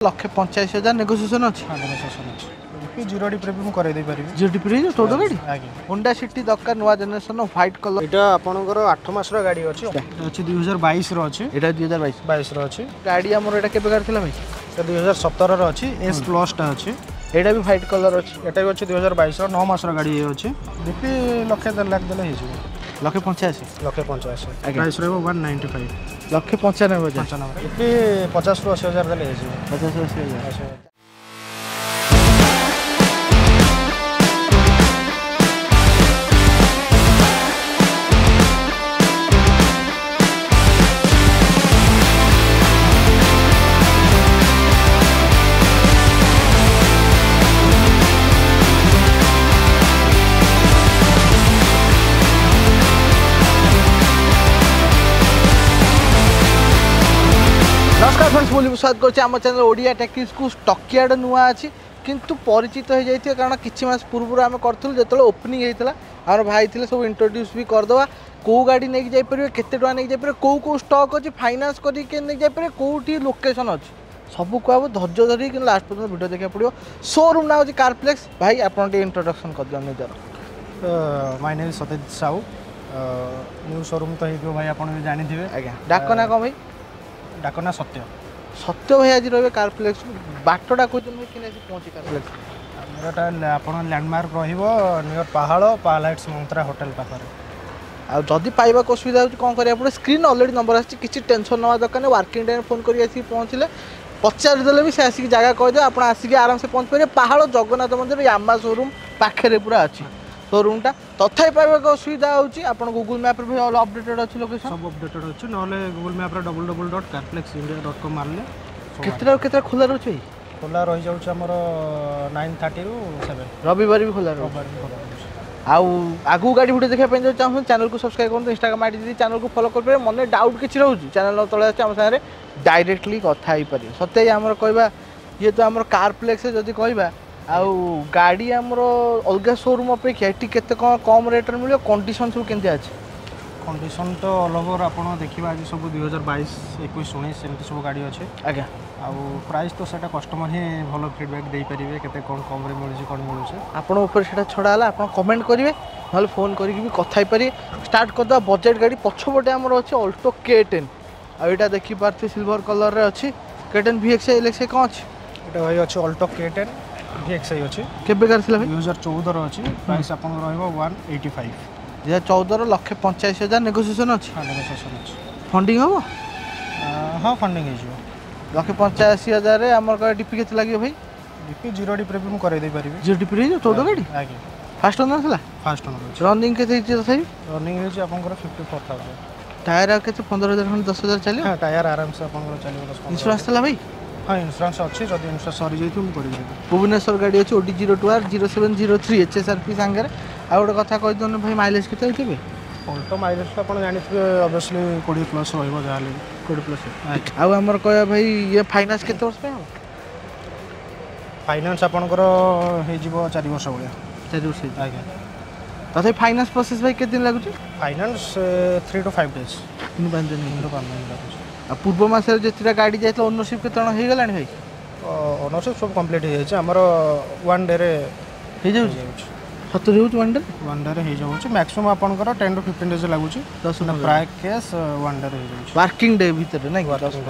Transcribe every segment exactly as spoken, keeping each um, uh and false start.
ଲକ୍ଷେ ପଞ୍ଚାଅଶୀ ହଜାର ନେଗୋସିଏସନ୍ ଅଛି। ହଁ, ନେଗୋସିଏସନ୍ ଅଛି। ବି ଜିରୋ ଡିପିରେ ବି ମୁଁ କରାଇ ଦେଇପାରିବି। ଜିରୋ ଡିପିରେ ହେଇଯିବ ଚଉଦ ଗାଡ଼ି। ଆଜ୍ଞା। ହୋଣ୍ଡା ସିଟି ଦରକାର, ନୂଆ ଜେନେରେସନ୍, ହ୍ୱାଇଟ୍ କଲର୍। ଏଇଟା ଆପଣଙ୍କର ଆଠ ମାସର ଗାଡ଼ି ଅଛି। ଏଇଟା ଅଛି ଦୁଇ ହଜାର ବାଇଶର ଅଛି। ଏଇଟା ଦୁଇ ହଜାର ବାଇଶ। ବାଇଶର ଅଛି। ଗାଡ଼ି ଆମର ଏଇଟା କେବେ ଗାଡ଼ି ଥିଲା ଭାଇ? ଏଇଟା ଦୁଇ ହଜାର ସତରର ଅଛି, ଏସ୍ ପ୍ଲସ୍ଟା ଅଛି। ଏଇଟା ବି ହ୍ୱାଇଟ୍ କଲର୍ ଅଛି। ଏଟା ବି ଅଛି ଦୁଇ ହଜାର ବାଇଶର, ନଅ ମାସର ଗାଡ଼ି ଇଏ ଅଛି। ଡିପି ଲକ୍ଷେ ଦେଢ଼ ଲାખ ଦେଲେ ହେଇଯିବ। ଲକ୍ଷେ ପଞ୍ଚାଅଶୀ। ଲକ୍ଷେ ପଞ୍ଚାଅଶୀ। ପ୍ରାଇସ୍ ରହିବ ୱାନ୍ ନାଇଣ୍ଟି ଫାଇଭ୍। ଲକ୍ଷେ ପଞ୍ଚାନବେ ହଜାର। ପଞ୍ଚାନବେ। ଡିପି ପଚାଶରୁ ଅଶୀ ହଜାର ଦେଲେ ହେଇଯିବ। ପଚାଶ ଅଶୀ ହଜାର। ଅଶୀ ହଜାର। ନମସ୍କାର ଫ୍ରେଣ୍ଡସ୍, ମୁଁ ସ୍ୱାଗତ କରୁଛି ଆମ ଚ୍ୟାନେଲ୍ ଓଡ଼ିଆ ଟେକିସ୍କୁ। ଷ୍ଟକିଆଡ଼ ନୂଆ ଅଛି କିନ୍ତୁ ପରିଚିତ ହେଇଯାଇଥିବେ, କାରଣ କିଛି ମାସ ପୂର୍ବରୁ ଆମେ କରିଥିଲୁ ଯେତେବେଳେ ଓପନିଂ ହେଇଥିଲା। ଆମର ଭାଇ ଥିଲେ, ସବୁ ଇଣ୍ଟ୍ରୋଡ୍ୟୁସ୍ ବି କରିଦେବା। କେଉଁ ଗାଡ଼ି ନେଇକି ଯାଇପାରିବେ, କେତେ ଟଙ୍କା ନେଇକି ଯାଇପାରିବେ, କେଉଁ କେଉଁ ଷ୍ଟକ୍ ଅଛି, ଫାଇନାନ୍ସ କରିକି କେମିତି ନେଇକି ଯାଇପାରିବେ, କେଉଁଠି ଲୋକେସନ୍ ଅଛି, ସବୁ କୁହାହବ। ଧୈର୍ଯ୍ୟ ଧରିକି କିନ୍ତୁ ଲାଷ୍ଟ ପର୍ଯ୍ୟନ୍ତ ଭିଡ଼ିଓ ଦେଖିବାକୁ ପଡ଼ିବ। ସୋରୁମ୍ ନାଁ ହେଉଛି କାରପ୍ଲେକ୍ସ। ଭାଇ, ଆପଣ ଟିକେ ଇଣ୍ଟ୍ରୋଡକ୍ସନ୍ କରିଦିଅନ୍ତୁ ନିଜର। My name Satyajit Sahu. New showroom ତ ହେଇଥିବ ଭାଇ, ଆପଣ ବି ଜାଣିଥିବେ। ଆଜ୍ଞା। ଡାକ ନା କ'ଣ ଭାଇ? ଡାକ ନା ସତ୍ୟ। ସତ୍ୟ ଭାଇ ଆଜି ରହିବେ କାରପ୍ଲେକ୍ସ। ବାଟଟା କହୁଛନ୍ତି ଭାଇ, କେମିତି ଆସି ପହଞ୍ଚି କାରପ୍ଲେକ୍ସ? ଆମର ଏଟା ଆପଣ ଲ୍ୟାଣ୍ଡମାର୍କ ରହିବ ନିୟର ପାହାଳ, ପାହାଳ ହାଇଟ୍ସ ମନ୍ତ୍ରା ହୋଟେଲ ପାଖରେ। ଆଉ ଯଦି ପାଇବାକୁ ଅସୁବିଧା ହେଉଛି, କ'ଣ କରିବାକୁ ପଡ଼ିବ? ସ୍କ୍ରିନ୍ ଅଲରେଡ଼ି ନମ୍ବର ଆସିଛି, କିଛି ଟେନସନ୍ ନେବା ଦରକାର ନାହିଁ। ୱାର୍କିଂ ଟାଇମ୍ ଫୋନ୍ କରିକି ଆସିକି ପହଞ୍ଚିଲେ ପଚାରିଦେଲେ ବି ସେ ଆସିକି ଜାଗା କହିଦେବେ, ଆପଣ ଆସିକି ଆରାମସେ ପହଞ୍ଚି ପାରିବେ। ପାହାଳ ଜଗନ୍ନାଥ ମନ୍ଦିର ୟାମା ସୋରୁମ୍ ପାଖରେ ପୁରା ଅଛି ସୋରୁମ୍ଟା। ତଥାପି ପାଇବାକୁ ଅସୁବିଧା ହେଉଛି, ଆପଣ ଗୁଗୁଲ୍ ମ୍ୟାପ୍ରେ ବି ଅପଡେଟେଡ୍ ଅଛି ଲୋକେସନ୍। ସବୁ ଅପଡେଟେଡ୍ ଅଛି। ନହେଲେ Google ମ୍ୟାପ୍ରେ double double dot Carplex India dot com ମାରିଲେ। କେତେଟା କେତେଟା ଖୋଲା ରହୁଛି ଭାଇ? ଖୋଲା ରହିଯାଉଛି ଆମର ନାଇନ୍ ଥାର୍ଟିରୁ ସେଭେନ୍। ରବିବାର ବି ଖୋଲା ରହୁଛି? ରବିବାର ବି ଖୋଲା ରହୁଛି। ଆଉ ଆଗକୁ ଗାଡ଼ି ଭିଡ଼ିଓ ଦେଖିବା ପାଇଁ ଯଦି ଚାହୁଁଛନ୍ତି, ଚ୍ୟାନେଲକୁ ସବସ୍କ୍ରାଇବ୍ କରନ୍ତୁ। ଇନଷ୍ଟାଗ୍ରାମ ଆଇଡି ଯଦି ଚ୍ୟାନେଲକୁ ଫଲୋ କରିପାରିବେ। ମନେ ଡାଉଟ୍ କିଛି ରହୁଛି, ଚ୍ୟାନେଲ ତଳେ ଅଛି, ଆମ ସାଙ୍ଗରେ ଡାଇରେକ୍ଟଲି କଥା ହେଇପାରିବେ। ସତେ ଆମର କହିବା, ଯେହେତୁ ଆମର କାରପ୍ଲେକ୍ସ ଯଦି କହିବା, ଆଉ ଗାଡ଼ି ଆମର ଅଲଗା ସୋରୁମ୍ ଅପେକ୍ଷା ଏଠି କେତେ କ'ଣ କମ୍ ରେଟ୍ରେ ମିଳିବ, କଣ୍ଡିସନ୍ ସବୁ କେମିତି ଅଛି? କଣ୍ଡିସନ୍ ତ ଅଲ୍ ଓଭର ଆପଣ ଦେଖିବା, ଆଜି ସବୁ ଦୁଇ ହଜାର ବାଇଶ, ଏକୋଇଶ, ଉଣେଇଶ ଏମିତି ସବୁ ଗାଡ଼ି ଅଛି। ଆଜ୍ଞା। ଆଉ ପ୍ରାଇସ୍ ତ ସେଇଟା କଷ୍ଟମର ହିଁ ଭଲ ଫିଡ଼ବ୍ୟାକ୍ ଦେଇପାରିବେ, କେତେ କ'ଣ କମ୍ରେ ମିଳୁଛି, କ'ଣ ମିଳୁଛି। ଆପଣଙ୍କ ଉପରେ ସେଇଟା ଛଡ଼ା ହେଲା। ଆପଣ କମେଣ୍ଟ କରିବେ, ନହେଲେ ଫୋନ୍ କରିକି ବି କଥା ହେଇପାରିବେ। ଷ୍ଟାର୍ଟ କରିଦେବା ବଜେଟ୍ ଗାଡ଼ି। ପଛପଟେ ଆମର ଅଛି ଅଲ୍ଟୋ କେ ଟେନ୍। ଆଉ ଏଇଟା ଦେଖିପାରୁଥିବେ, ସିଲଭର କଲର୍ରେ ଅଛି। K ten V X L X କ'ଣ ଅଛି? ଏଇଟା ଭାଇ ଅଛି Alto K ten V X I ଅଛି। କେବେକାର ଥିଲା ଭାଇ? ଦୁଇ ହଜାର ଚଉଦର ଅଛି। ପ୍ରାଇସ୍ ଆପଣଙ୍କର ରହିବ ୱାନ୍ ଏଇଟି ଫାଇଭ୍। ଦୁଇ ହଜାର ଚଉଦର, ଲକ୍ଷେ ପଞ୍ଚାଅଶୀ ହଜାର ନେଗୋସିଏସନ୍ ଅଛି। ହଁ, ନେଗୋସିଏସନ୍ ଅଛି। ଫଣ୍ଡିଂ ହେବ? ହଁ, ଫଣ୍ଡିଂ ହେଇଯିବ। ଲକ୍ଷେ ପଞ୍ଚାଅଶୀ ହଜାରରେ ଆମର ଡିପି କେତେ ଲାଗିବ ଭାଇ? ଡିପି ଜିରୋ ଡିପିରେ ବି ମୁଁ କରାଇ ଦେଇପାରିବି। ଜିରୋ ଡିପିରେ ହେଇଯିବ ଚଉଦ ଗାଡ଼ି? ଆଜ୍ଞା। ଫାଷ୍ଟ ଓନର୍ ଥିଲା? ଫାଷ୍ଟ ଓନର୍ ଅଛି। ରନିଂ କେତେ ହେଇଛି ତଥାପି? ରନିଂ ହେଇଛି ଆପଣଙ୍କର ଫିଫ୍ଟି ଫୋର୍ ଥାଉଜେଣ୍ଡ। ଟାୟାର ଆଉ କେତେ, ପନ୍ଦର ହଜାର ଖଣ୍ଡେ, ଦଶ ହଜାର ଚାଲିବ? ହଁ, ଟାୟାର ଆରାମସେ ଆପଣଙ୍କର ଚାଲିବ ଦଶ ପନ୍ଦର। ଇନ୍ସୁରାନ୍ସ ଥିଲା ଭାଇ? ହଁ, ଇନ୍ସୁରାନ୍ସ ଅଛି। ଯଦି ଇନ୍ସୁରାନ୍ସ ସରିଯାଇଥିବ, ମୁଁ କରିଦେବି। ଭୁବନେଶ୍ୱର ଗାଡ଼ି ଅଛି, ଓଡି zero two R zero seven zero three, H S R P ସାଙ୍ଗରେ। ଆଉ ଗୋଟେ କଥା କହିଦିଅନ୍ତୁ ଭାଇ, ମାଇଲେଜ୍ କେତେ ହେଇଥିବେ? ଅଲ୍ଟୋ ମାଇଲେଜ୍ ତ ଆପଣ ଜାଣିଥିବେ, ଅବଭିୟସଲି କୋଡ଼ିଏ ପ୍ଲସ୍ ରହିବ ଯାହାହେଲେ ବି। କୋଡ଼ିଏ ପ୍ଲସ୍। ଆଉ ଆମର କହିବା ଭାଇ, ଇଏ ଫାଇନାନ୍ସ କେତେ ବର୍ଷ ପାଇଁ ହେବ? ଫାଇନାନ୍ସ ଆପଣଙ୍କର ହେଇଯିବ ଚାରି ବର୍ଷ ଭଳିଆ। ଚାରି ବର୍ଷ ହେଇଯିବ? ଆଜ୍ଞା। ତଥାପି ଫାଇନାନ୍ସ ପ୍ରୋସେସ୍ ଭାଇ କେତେ ଦିନ ଲାଗୁଛି? Finance three two five days. ତିନି ପାଞ୍ଚ ଦିନ? ତିନି ଟୁ ପାଞ୍ଚ ଦିନ ଲାଗୁଛି। ଆଉ ପୂର୍ବ ମାସରେ ଯେତେଟା ଗାଡ଼ି ଯାଇଥିଲା, ଓନରସିପ୍ କେତେ ଜଣ ହେଇଗଲାଣି ଭାଇ? ଓନରସିପ୍ ସବୁ କମ୍ପ୍ଲିଟ୍ ହେଇଯାଇଛି ଆମର, ୱାନ୍ ଡେରେ ହେଇଯାଉଛି? ହେଇଯାଉଛି। ସତରେ ହେଉଛି ୱାନ୍ ଡେ? ୱାନ୍ ଡେରେ ହେଇଯାଉଛି। ମ୍ୟାକ୍ସିମମ୍ ଆପଣଙ୍କର ଟେନ୍ ଟୁ ଫିଫ୍ଟିନ୍ ଡେଜ୍ ଲାଗୁଛି। ଦଶ ପ୍ରାୟ କେସ୍ ୱାନ୍ ଡେରେ ହେଇଯାଉଛି। ୱାର୍କିଂ ଡେ ଭିତରେ ନାଇଁ କି?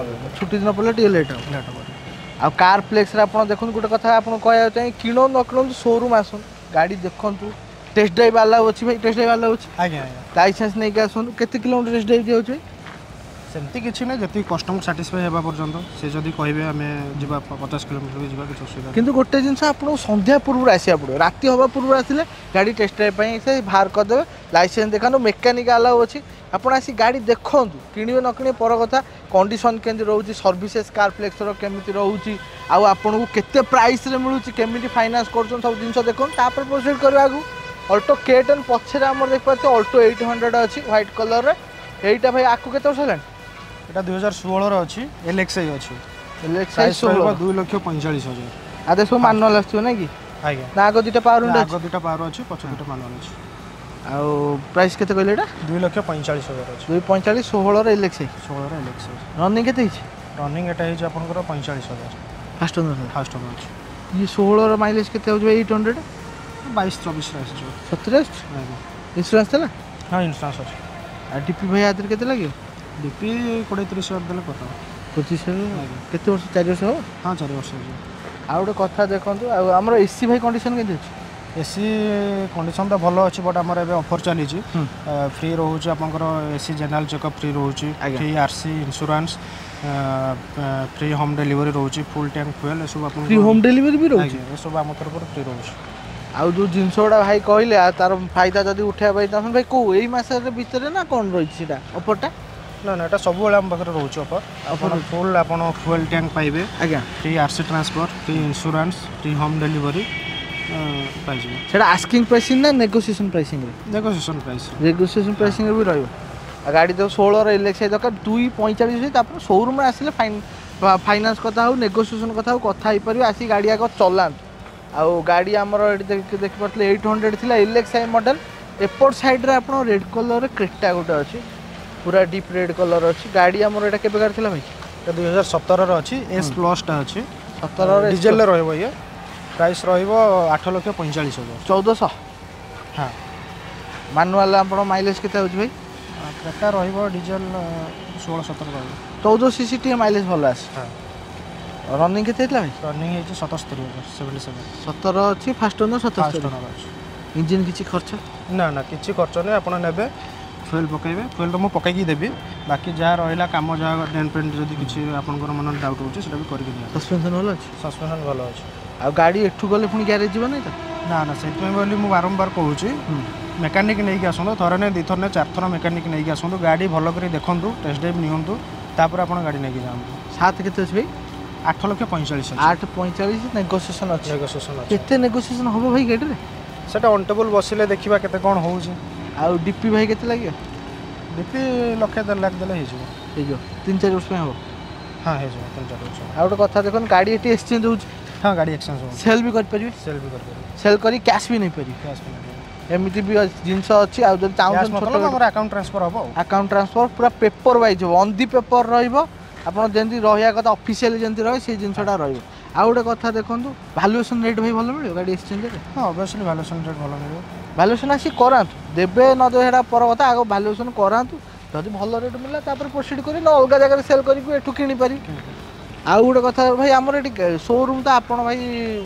ଛୁଟି ଦିନ ପଡ଼ିଲେ ଟିକେ ଲେଟ୍ ହେବ। ଲେଟ୍ ହେବ। ଆଉ କାର୍ ପ୍ଲେକ୍ସରେ ଆପଣ ଦେଖନ୍ତୁ, ଗୋଟେ କଥା ଆପଣ କହିବାକୁ ଚାହିଁ, କିଣନ୍ତୁ ନ କିଣନ୍ତୁ, ସୋରୁମ୍ ଆସନ୍ତୁ, ଗାଡ଼ି ଦେଖନ୍ତୁ। ଟେଷ୍ଟ ଡ୍ରାଇଭ୍ ଆଲାଉ ଅଛି ଭାଇ? ଟେଷ୍ଟ ଡ୍ରାଇଭ୍ ଆଲାଉ ଅଛି? ଆଜ୍ଞା ଆଜ୍ଞା। ଲାଇସେନ୍ସ ନେଇକି ଆସନ୍ତୁ। କେତେ କିଲୋମିଟର ଟେଷ୍ଟ ଡ୍ରାଇଭ୍ ଦିଆଯାଉଛି ଭାଇ? ସେମିତି କିଛି ନାହିଁ, ଯେତିକି କଷ୍ଟମର ସାଟିସ୍ଫାଇ ହେବା ପର୍ଯ୍ୟନ୍ତ। ସେ ଯଦି କହିବେ ଆମେ ଯିବା, ପଚାଶ କିଲୋମିଟର ବି ଯିବା, କିଛି ଅସୁବିଧା। କିନ୍ତୁ ଗୋଟେ ଜିନିଷ, ଆପଣଙ୍କୁ ସନ୍ଧ୍ୟା ପୂର୍ବରୁ ଆସିବାକୁ ପଡ଼ିବ। ରାତି ହେବା ପୂର୍ବରୁ ଆସିଲେ ଗାଡ଼ି ଟେଷ୍ଟ ଡ୍ରାଇଭ୍ ପାଇଁ ସେ ବାହାର କରିଦେବେ। ଲାଇସେନ୍ସ ଦେଖାନ୍ତୁ, ମେକାନିକ୍ ଆଲାଉ ଅଛି। ଆପଣ ଆସି ଗାଡ଼ି ଦେଖନ୍ତୁ, କିଣିବେ ନ କିଣିବେ ପର କଥା। କଣ୍ଡିସନ୍ କେମିତି ରହୁଛି, ସର୍ଭିସେସ୍ କାର୍ ପ୍ଲେକ୍ସର କେମିତି ରହୁଛି, ଆଉ ଆପଣଙ୍କୁ କେତେ ପ୍ରାଇସ୍ରେ ମିଳୁଛି, କେମିତି ଫାଇନାନ୍ସ କରୁଛନ୍ତି, ସବୁ ଜିନିଷ ଦେଖନ୍ତୁ, ତାପରେ ପ୍ରୋସିଡ଼ କରିବା ଆଗକୁ। ଅଲ୍ଟୋ କେ ଟେନ୍ ପଛରେ ଆମର ଦେଖିପାରୁଥିବେ ଅଲ୍ଟୋ ଏଇଟ୍ ହଣ୍ଡ୍ରେଡ଼ ଅଛି ହ୍ୱାଇଟ୍ କଲର୍ରେ। ଏଇଟା ଭାଇ, ଆକୁ କେତେ ବର୍ଷ ହେଲାଣି? ଏଇଟା ଦୁଇ ହଜାର ଷୋହଳର ଅଛି, ଏଲ୍ ଏକ୍ସ I ଅଛି। ଏଲ୍ ଏକ୍ସ I, ଷୋହଳ, ଦୁଇ ଲକ୍ଷ ପଇଁଚାଳିଶ ହଜାର। ଆଉ ସବୁ ମାନୁଆଲ୍ ଆସୁଥିବ ନାଇଁ କି? ଆଜ୍ଞା। ନା ଆଗ ଦୁଇଟା ପାୱାର ୱିଣ୍ଡୋ? ଆଗ ଦୁଇଟା ପାୱାର ଅଛି, ପଛ ଦୁଇଟା ମାନୁଆଲ୍ ଅଛି। ଆଉ ପ୍ରାଇସ୍ କେତେ କହିଲେ ଏଇଟା? ଦୁଇ ଲକ୍ଷ ପଇଁଚାଳିଶ ହଜାର ଅଛି। ଦୁଇ ପଇଁଚାଳିଶ, ଷୋହଳର ଏଲ୍ ଏକ୍ସ I. ଷୋହଳର L X I. Running କେତେ ହେଇଛି? ରନିଂ ଏଟା ହେଇଛି ଆପଣଙ୍କର ପଇଁଚାଳିଶ ହଜାର। ଫାଷ୍ଟ ଓନର ଫାଷ୍ଟ ଓନର ଅଛି ଇଏ ଷୋହଳର ମାଇଲେଜ୍ କେତେ ହେଉଛି ଭାଇ ଏଇଟ୍ ହଣ୍ଡ୍ରେଡ଼ ବାଇଶ ଚବିଶରେ ଆସିଯିବ ସତରେ ଆସୁଛି ଆଜ୍ଞା ଇନ୍ସୁରାନ୍ସ ଥିଲା ହଁ ଇନ୍ସୁରାନ୍ସ ଅଛି ଆଉ ଡିପି ଭାଇ ଆଥିରେ କେତେ ଲାଗିବ ଡିପି କୋଡ଼ିଏ ତିରିଶ ହଜାର ଦେଲେ କରିଦେବ ପଚିଶ ହଜାର ଆଜ୍ଞା କେତେ ବର୍ଷ ଚାରି ବର୍ଷ ହେବ ହଁ ଚାରି ବର୍ଷ ହେଇଯିବ ଆଉ ଗୋଟେ କଥା ଦେଖନ୍ତୁ ଆଉ ଆମର ଏସି ଭାଇ କଣ୍ଡିସନ୍ କେମିତି ଅଛି ଏସି କଣ୍ଡିସନ୍ ତ ଭଲ ଅଛି ବଟ୍ ଆମର ଏବେ ଅଫର୍ ଚାଲିଛି ହୁଁ। ଫ୍ରି ରହୁଛି ଆପଣଙ୍କର ଏସି ଜେନେରାଲ ଚେକଅପ୍ ଫ୍ରି ରହୁଛି ଆଜ୍ଞା। Free RC insurance free home delivery ରହୁଛି ଫୁଲ୍ ଟ୍ୟାଙ୍କ ଫୁଏଲ୍ ଏସବୁ ଆପଣଙ୍କୁ ଫ୍ରି ହୋମ୍ ଡେଲିଭରି ବି ରହୁଛି ଆଜ୍ଞା ଏସବୁ ଆମ ତରଫରୁ ଫ୍ରି ରହୁଛି ଆଉ ଯେଉଁ ଜିନିଷ ଗୁଡ଼ା ଭାଇ କହିଲେ ଆଉ ତାର ଫାଇଦା ଯଦି ଉଠେଇବା ପାଇଁ ଚାହୁଁଛନ୍ତି ଭାଇ କେଉଁ ଏଇ ମାସରେ ଭିତରେ ନା କ'ଣ ରହିଛି ସେଇଟା ଅଫର୍ଟା ନା ନା ଏଟା ସବୁବେଳେ ଆମ ପାଖରେ ରହୁଛି ଅଫର୍ ଆପଣ ଫୁଲ୍ ଆପଣ ଫୁଏଲ୍ ଟ୍ୟାଙ୍କ ପାଇବେ ଆଜ୍ଞା free RC transfer free insurance free home delivery ପାଇଯିବେ ସେଇଟା ଆସ୍କିଂ ପ୍ରାଇସିଂ ନା ନେଗୋସିଏସନ୍ ପ୍ରାଇସିଂରେ ନେଗୋସିଏସନ୍ ପ୍ରାଇସ୍ ନେଗୋସିଏସନ୍ ପ୍ରାଇସିଂରେ ବି ରହିବ ଆଉ ଗାଡ଼ି ତ ଷୋହଳର ଏଲ୍ ଦରକାର ଦୁଇ ପଇଁଚାଳିଶ ଅଛି ତାପରେ ସୋରୁମ୍ରେ ଆସିଲେ ଫାଇନ୍ ଫାଇନାନ୍ସ କଥା ହଉ ନେଗୋସିଏସନ୍ କଥା ହଉ କଥା ହେଇପାରିବେ ଆସିକି ଗାଡ଼ି ଆଗ ଚଲାନ୍ତୁ ଆଉ ଗାଡ଼ି ଆମର ଏଠି ଦେଖି ଦେଖିପାରୁଥିଲେ ଏଇଟ୍ ହଣ୍ଡ୍ରେଡ଼ ଥିଲା ଏଲ୍ ଏକ୍ସ I model ଏପଟ ସାଇଡ଼୍ରେ ଆପଣ ରେଡ଼୍ କଲର୍ର କ୍ରେଟା ଗୋଟେ ଅଛି ପୁରା ଡିପ୍ ରେଡ଼୍ କଲର୍ ଅଛି ଗାଡ଼ି ଆମର ଏଇଟା କେବେକାର ଥିଲା ଭାଇ ଏଟା ଦୁଇ ହଜାର ସତରର ଅଛି ଏସ୍ ପ୍ଲସ୍ଟା ଅଛି ସତରର ଡିଜେଲରେ ରହିବ ଇଏ ପ୍ରାଇସ୍ ରହିବ ଆଠ ଲକ୍ଷ ପଇଁଚାଳିଶ ହଜାର ଚଉଦଶହ ହଁ ମାନୁଆଲ ଆପଣ ମାଇଲେଜ୍ କେତେ ହେଉଛି ଭାଇ କ୍ରେଟା ରହିବ ଡିଜେଲ ଷୋହଳ ସତର ରହିବ ଚଉଦ ସିସି ଟିକେ ମାଇଲେଜ୍ ଭଲ ଆସେ ହଁ ରନିଂ କେତେ ହେଇଥିଲା ଭାଇ ରନିଂ ହେଇଛି ସତସ୍ତରୀ ହଜାର ସେଭେଣ୍ଟି ସେଭେନ୍ ସତର ଅଛି ଫାଷ୍ଟ ଓନର ଫାଷ୍ଟ ସତସ୍ତରୀ ଓନର ଅଛି ଇଞ୍ଜିନ୍ କିଛି ଖର୍ଚ୍ଚ ନା ନା କିଛି ଖର୍ଚ୍ଚ ନାହିଁ ଆପଣ ନେବେ ଫୁଏଲ୍ ପକାଇବେ ଫୁଏଲ୍ ତ ମୁଁ ପକାଇକି ଦେବି ବାକି ଯାହା ରହିଲା କାମ ଯାହା ଡେଣ୍ଟ ପେଣ୍ଟ ଯଦି କିଛି ଆପଣଙ୍କର ମନରେ ଡାଉଟ୍ ରହୁଛି ସେଇଟା ବି କରିକି ଦିଆହେବ ସସ୍ପେନ୍ସନ୍ ଭଲ ଅଛି ସସ୍ପେନ୍ସନ୍ ଭଲ ଅଛି ଆଉ ଗାଡ଼ି ଏଠୁ ଗଲେ ପୁଣି ଗ୍ୟାରେଜ୍ ଯିବ ନାଇଁ ତ ନା ନା ସେଥିପାଇଁ ବୋଲି ମୁଁ ବାରମ୍ବାର କହୁଛି ମେକାନିକ୍ ନେଇକି ଆସନ୍ତୁ ଥରେ ନାଇଁ ଦୁଇ ଥର ନାଇଁ ଚାରିଥର ମେକାନିକ୍ ନେଇକି ଆସନ୍ତୁ ଗାଡ଼ି ଭଲ କରି ଦେଖନ୍ତୁ ଟେଷ୍ଟ ଡ୍ରାଇଭ୍ ନିଅନ୍ତୁ ତାପରେ ଆପଣ ଗାଡ଼ି ନେଇକି ଯାଆନ୍ତୁ ସାତ କେତେ ଅଛି ଭାଇ ଆଠ ଲକ୍ଷ ପଇଁଚାଳିଶ ଅଛି ଆଠ ପଇଁଚାଳିଶ ନେଗୋସିଏସନ୍ ଅଛି ନେଗୋସିଏସନ୍ ଅଛି କେତେ ନେଗୋସିଏସନ୍ ହେବ ଭାଇ ଗାଡ଼ିରେ ସେଟା ଅନ୍ ଟେବୁଲ୍ ବସିଲେ ଦେଖିବା କେତେ କ'ଣ ହେଉଛି ଆଉ ଡିପି ଭାଇ କେତେ ଲାଗିବ ଡିପି ଲକ୍ଷେ ଦେଢ଼ ଲାખ ଦେଲେ ହେଇଯିବ ହେଇଯିବ ତିନି ଚାରି ବର୍ଷ ପାଇଁ ହେବ ହଁ ହେଇଯିବ ତିନି ଚାରି ବର୍ଷ ଆଉ ଗୋଟେ କଥା ଦେଖନ୍ତୁ ଗାଡ଼ି ଏଠି ଏକ୍ସଚେଞ୍ଜ ହେଉଛି ହଁ ଗାଡ଼ି ଏକ୍ସଚେଞ୍ଜ ହେଉଛି ସେଲ୍ ବି କରିପାରିବେ ସେଲ୍ ବି କରିପାରିବେ ସେଲ୍ କରି କ୍ୟାସ୍ ବି ନେଇପାରିବେ କ୍ୟାସ୍ ବି ନେଇପାରିବେ ଏମିତି ବି ଅଛି- ଜିନିଷ ଅଛି ଆଉ ଯଦି କ୍ୟାସ୍ ଚାହୁଁଛନ୍ତି ମତଲବ ଛୋଟ ଆମର ଆକାଉଣ୍ଟ ଟ୍ରାନ୍ସଫର୍ ହେବ ଆଉ ଆକାଉଣ୍ଟ ଟ୍ରାନ୍ସଫର୍ ପୁରା ପେପର ୱାଇଜ୍ ହେବ ଅନ୍ the paper ରହିବ ଆପଣ ଯେମିତି ରହିବା କଥା ଅଫିସିଆଲି ଯେମିତି ରହେ ସେଇ ଜିନିଷଟା ରହିବ ଆଉ ଗୋଟେ କଥା ଦେଖନ୍ତୁ ଭାଲୁଏସନ୍ ରେଟ୍ ଭାଇ ଭଲ ମିଳିବ ଗାଡ଼ି ଏକ୍ସଚେଞ୍ଜରେ ହଁ ଅବଭିୟସଲି ଭାଲୁଏସନ୍ ରେଟ୍ ଭଲ ମିଳିବ ଭାଲୁଏସନ୍ ଆସିକି କରାନ୍ତୁ ଦେବେ ନ ଦେବେ ସେଇଟା ପର କଥା ଆଗ ଭାଲୁଏସନ୍ କରାନ୍ତୁ ଯଦି ଭଲ ରେଟ୍ ମିଳିଲା ତାପରେ ପ୍ରୋସିଡ଼ କରି ନ ଅଲଗା ଜାଗାରେ ସେଲ୍ କରିକି ଏଠୁ କିଣିପାରିବେ ଆଉ ଗୋଟେ କଥା ଭାଇ ଆମର ଏଠି ସୋରୁମ୍ ତ ଆପଣ ଭାଇ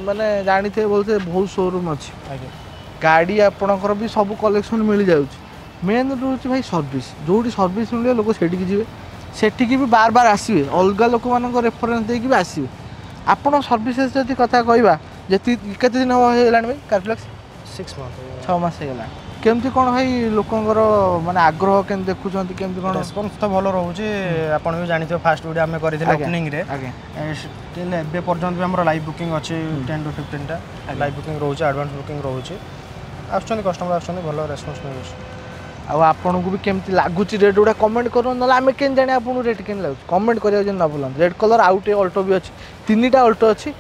ମାନେ ଜାଣିଥିବେ ବୋଧେ ବହୁତ ସୋରୁମ୍ ଅଛି ଆଜ୍ଞା ଗାଡ଼ି ଆପଣଙ୍କର ବି ସବୁ କଲେକ୍ସନ୍ ମିଳିଯାଉଛି ମେନ୍ ରହୁଛି ଭାଇ ସର୍ଭିସ୍ ଯେଉଁଠି ସର୍ଭିସ୍ ମିଳିବ ଲୋକ ସେଇଠିକି ଯିବେ ସେଠିକି ବି ବାର ବାର ଆସିବେ ଅଲଗା ଲୋକମାନଙ୍କ ରେଫରେନ୍ସ ଦେଇକି ବି ଆସିବେ ଆପଣ ସର୍ଭିସେସ୍ ଯଦି କଥା କହିବା ଯେତିକି କେତେ ଦିନ ହେବ ହେଇଗଲାଣି ଭାଇ କାରଫ୍ଲେକ୍ସ ସିକ୍ସ ମନ୍ଥ ଛଅ ମାସ ହେଇଗଲାଣି କେମିତି କ'ଣ ଭାଇ ଲୋକଙ୍କର ମାନେ ଆଗ୍ରହ କେମିତି ଦେଖୁଛନ୍ତି କେମିତି କ'ଣ ରେସ୍ପନ୍ସ ତ ଭଲ ରହୁଛି ଆପଣ ବି ଜାଣିଥିବେ ଫାଷ୍ଟ ଭିଡ଼ିଓ ଆମେ କରିଥିଲେ ଆଜ୍ଞା। ଓପନିଂରେ ଆଜ୍ଞା ଷ୍ଟିଲ୍ ଏବେ ପର୍ଯ୍ୟନ୍ତ ବି ଆମର ଲାଇଭ୍ ବୁକିଂ ଅଛି ଟେନ୍ ଟୁ ଫିଫ୍ଟିନ୍ଟା ଲାଇଭ୍ ବୁକିଂ ରହୁଛି ଆଡ଼ଭାନ୍ସ ବୁକିଂ ରହୁଛି ଆସୁଛନ୍ତି କଷ୍ଟମର ଆସୁଛନ୍ତି ଭଲ ରେସ୍ପନ୍ସ ମିଳୁଛି ଆଉ ଆପଣଙ୍କୁ ବି କେମିତି ଲାଗୁଛି ରେଟ୍ ଗୁଡ଼ା କମେଣ୍ଟ କରନ୍ତୁ ନହେଲେ ଆମେ କେମିତି ଜାଣିବା ଆପଣଙ୍କୁ ରେଟ୍ କେମିତି ଲାଗୁଛି କମେଣ୍ଟ କରିବାକୁ ଯେମିତି ନ ଭୁଲନ୍ତୁ ରେଡ୍ କଲର୍ ଆଉ ଗୋଟେ ଅଲ୍ଟୋ ବି ଅଛି ତିନିଟା ଅଲ୍ଟୋ ଅଛି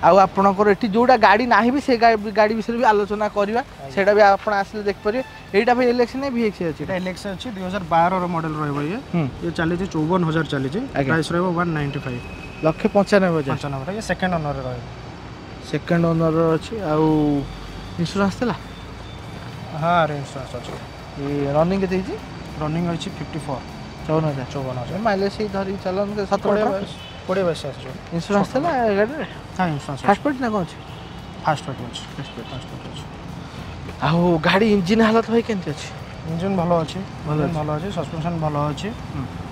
ଆଉ ଆପଣଙ୍କର ଏଠି ଯେଉଁଟା ଗାଡ଼ି ନାହିଁ ବି ସେ ଗାଡ଼ି ବିଷୟରେ ବି ଆଲୋଚନା କରିବା ସେଇଟା ବି ଆପଣ ଆସିଲେ ଦେଖିପାରିବେ ଏଇଟା ଭାଇ ଏଲ୍ ଏକ୍ସ ନା ଭି ଏକ୍ସ ଅଛି ଏଇଟା ଏଲ୍ ଏକ୍ସ ଅଛି ଦୁଇ ହଜାର ବାରର ମଡ଼େଲ୍ ରହିବ ଇଏ ହୁଁ ଇଏ ଚାଲିଛି ଚଉବନ ହଜାର ଚାଲିଛି ଆଜ୍ଞା। ପ୍ରାଇସ୍ ରହିବ ୱାନ୍ ନାଇଣ୍ଟି ଫାଇଭ୍ ଲକ୍ଷେ ପଞ୍ଚାନବେ ହଜାର ପଞ୍ଚାନବେ ଇଏ ସେକେଣ୍ଡ ଓନରରେ ରହିବ ସେକେଣ୍ଡ ଓନର୍ ଅଛି ଆଉ ଇନ୍ସୁରାନ୍ସ ଥିଲା ହଁ ଆର ଇନ୍ସୁରାନ୍ସ ଅଛି ଏ ରନିଂ କେତେ ହେଇଛି ରନିଂ ଅଛି ଫିଫ୍ଟି ଫୋର୍ ଚଉବନ ହଜାର ଚଉବନ ହଜାର ମାଇଲେଜ୍ ସେଇ ଧରିକି ଚାଲନ୍ତୁ ସତର କୋଡ଼ିଏ ଅଠର ବାଇଶ କୋଡ଼ିଏ ବାଇଶ ଆସିଯିବ ଇନ୍ସୁରାନ୍ସ ଥିଲା ଏ ଗାଡ଼ିରେ ହଁ ଇନ୍ସୁରାନ୍ସ ଫାଷ୍ଟ ପାର୍ଟି ନା କ'ଣ ଅଛି ଫାଷ୍ଟ ପାର୍ଟି ଅଛି ଫାଷ୍ଟ ପାର୍ଟି ଅଛି ଆଉ ଗାଡ଼ି ଇଞ୍ଜିନ୍ ହାଲତ ଭାଇ କେମିତି ଅଛି ଇଞ୍ଜିନ୍ ଭଲ ଅଛି ଭଲ ଇଞ୍ଜିନ୍ ଭଲ ଅଛି ସସ୍ପେନ୍ସନ୍ ଭଲ ଅଛି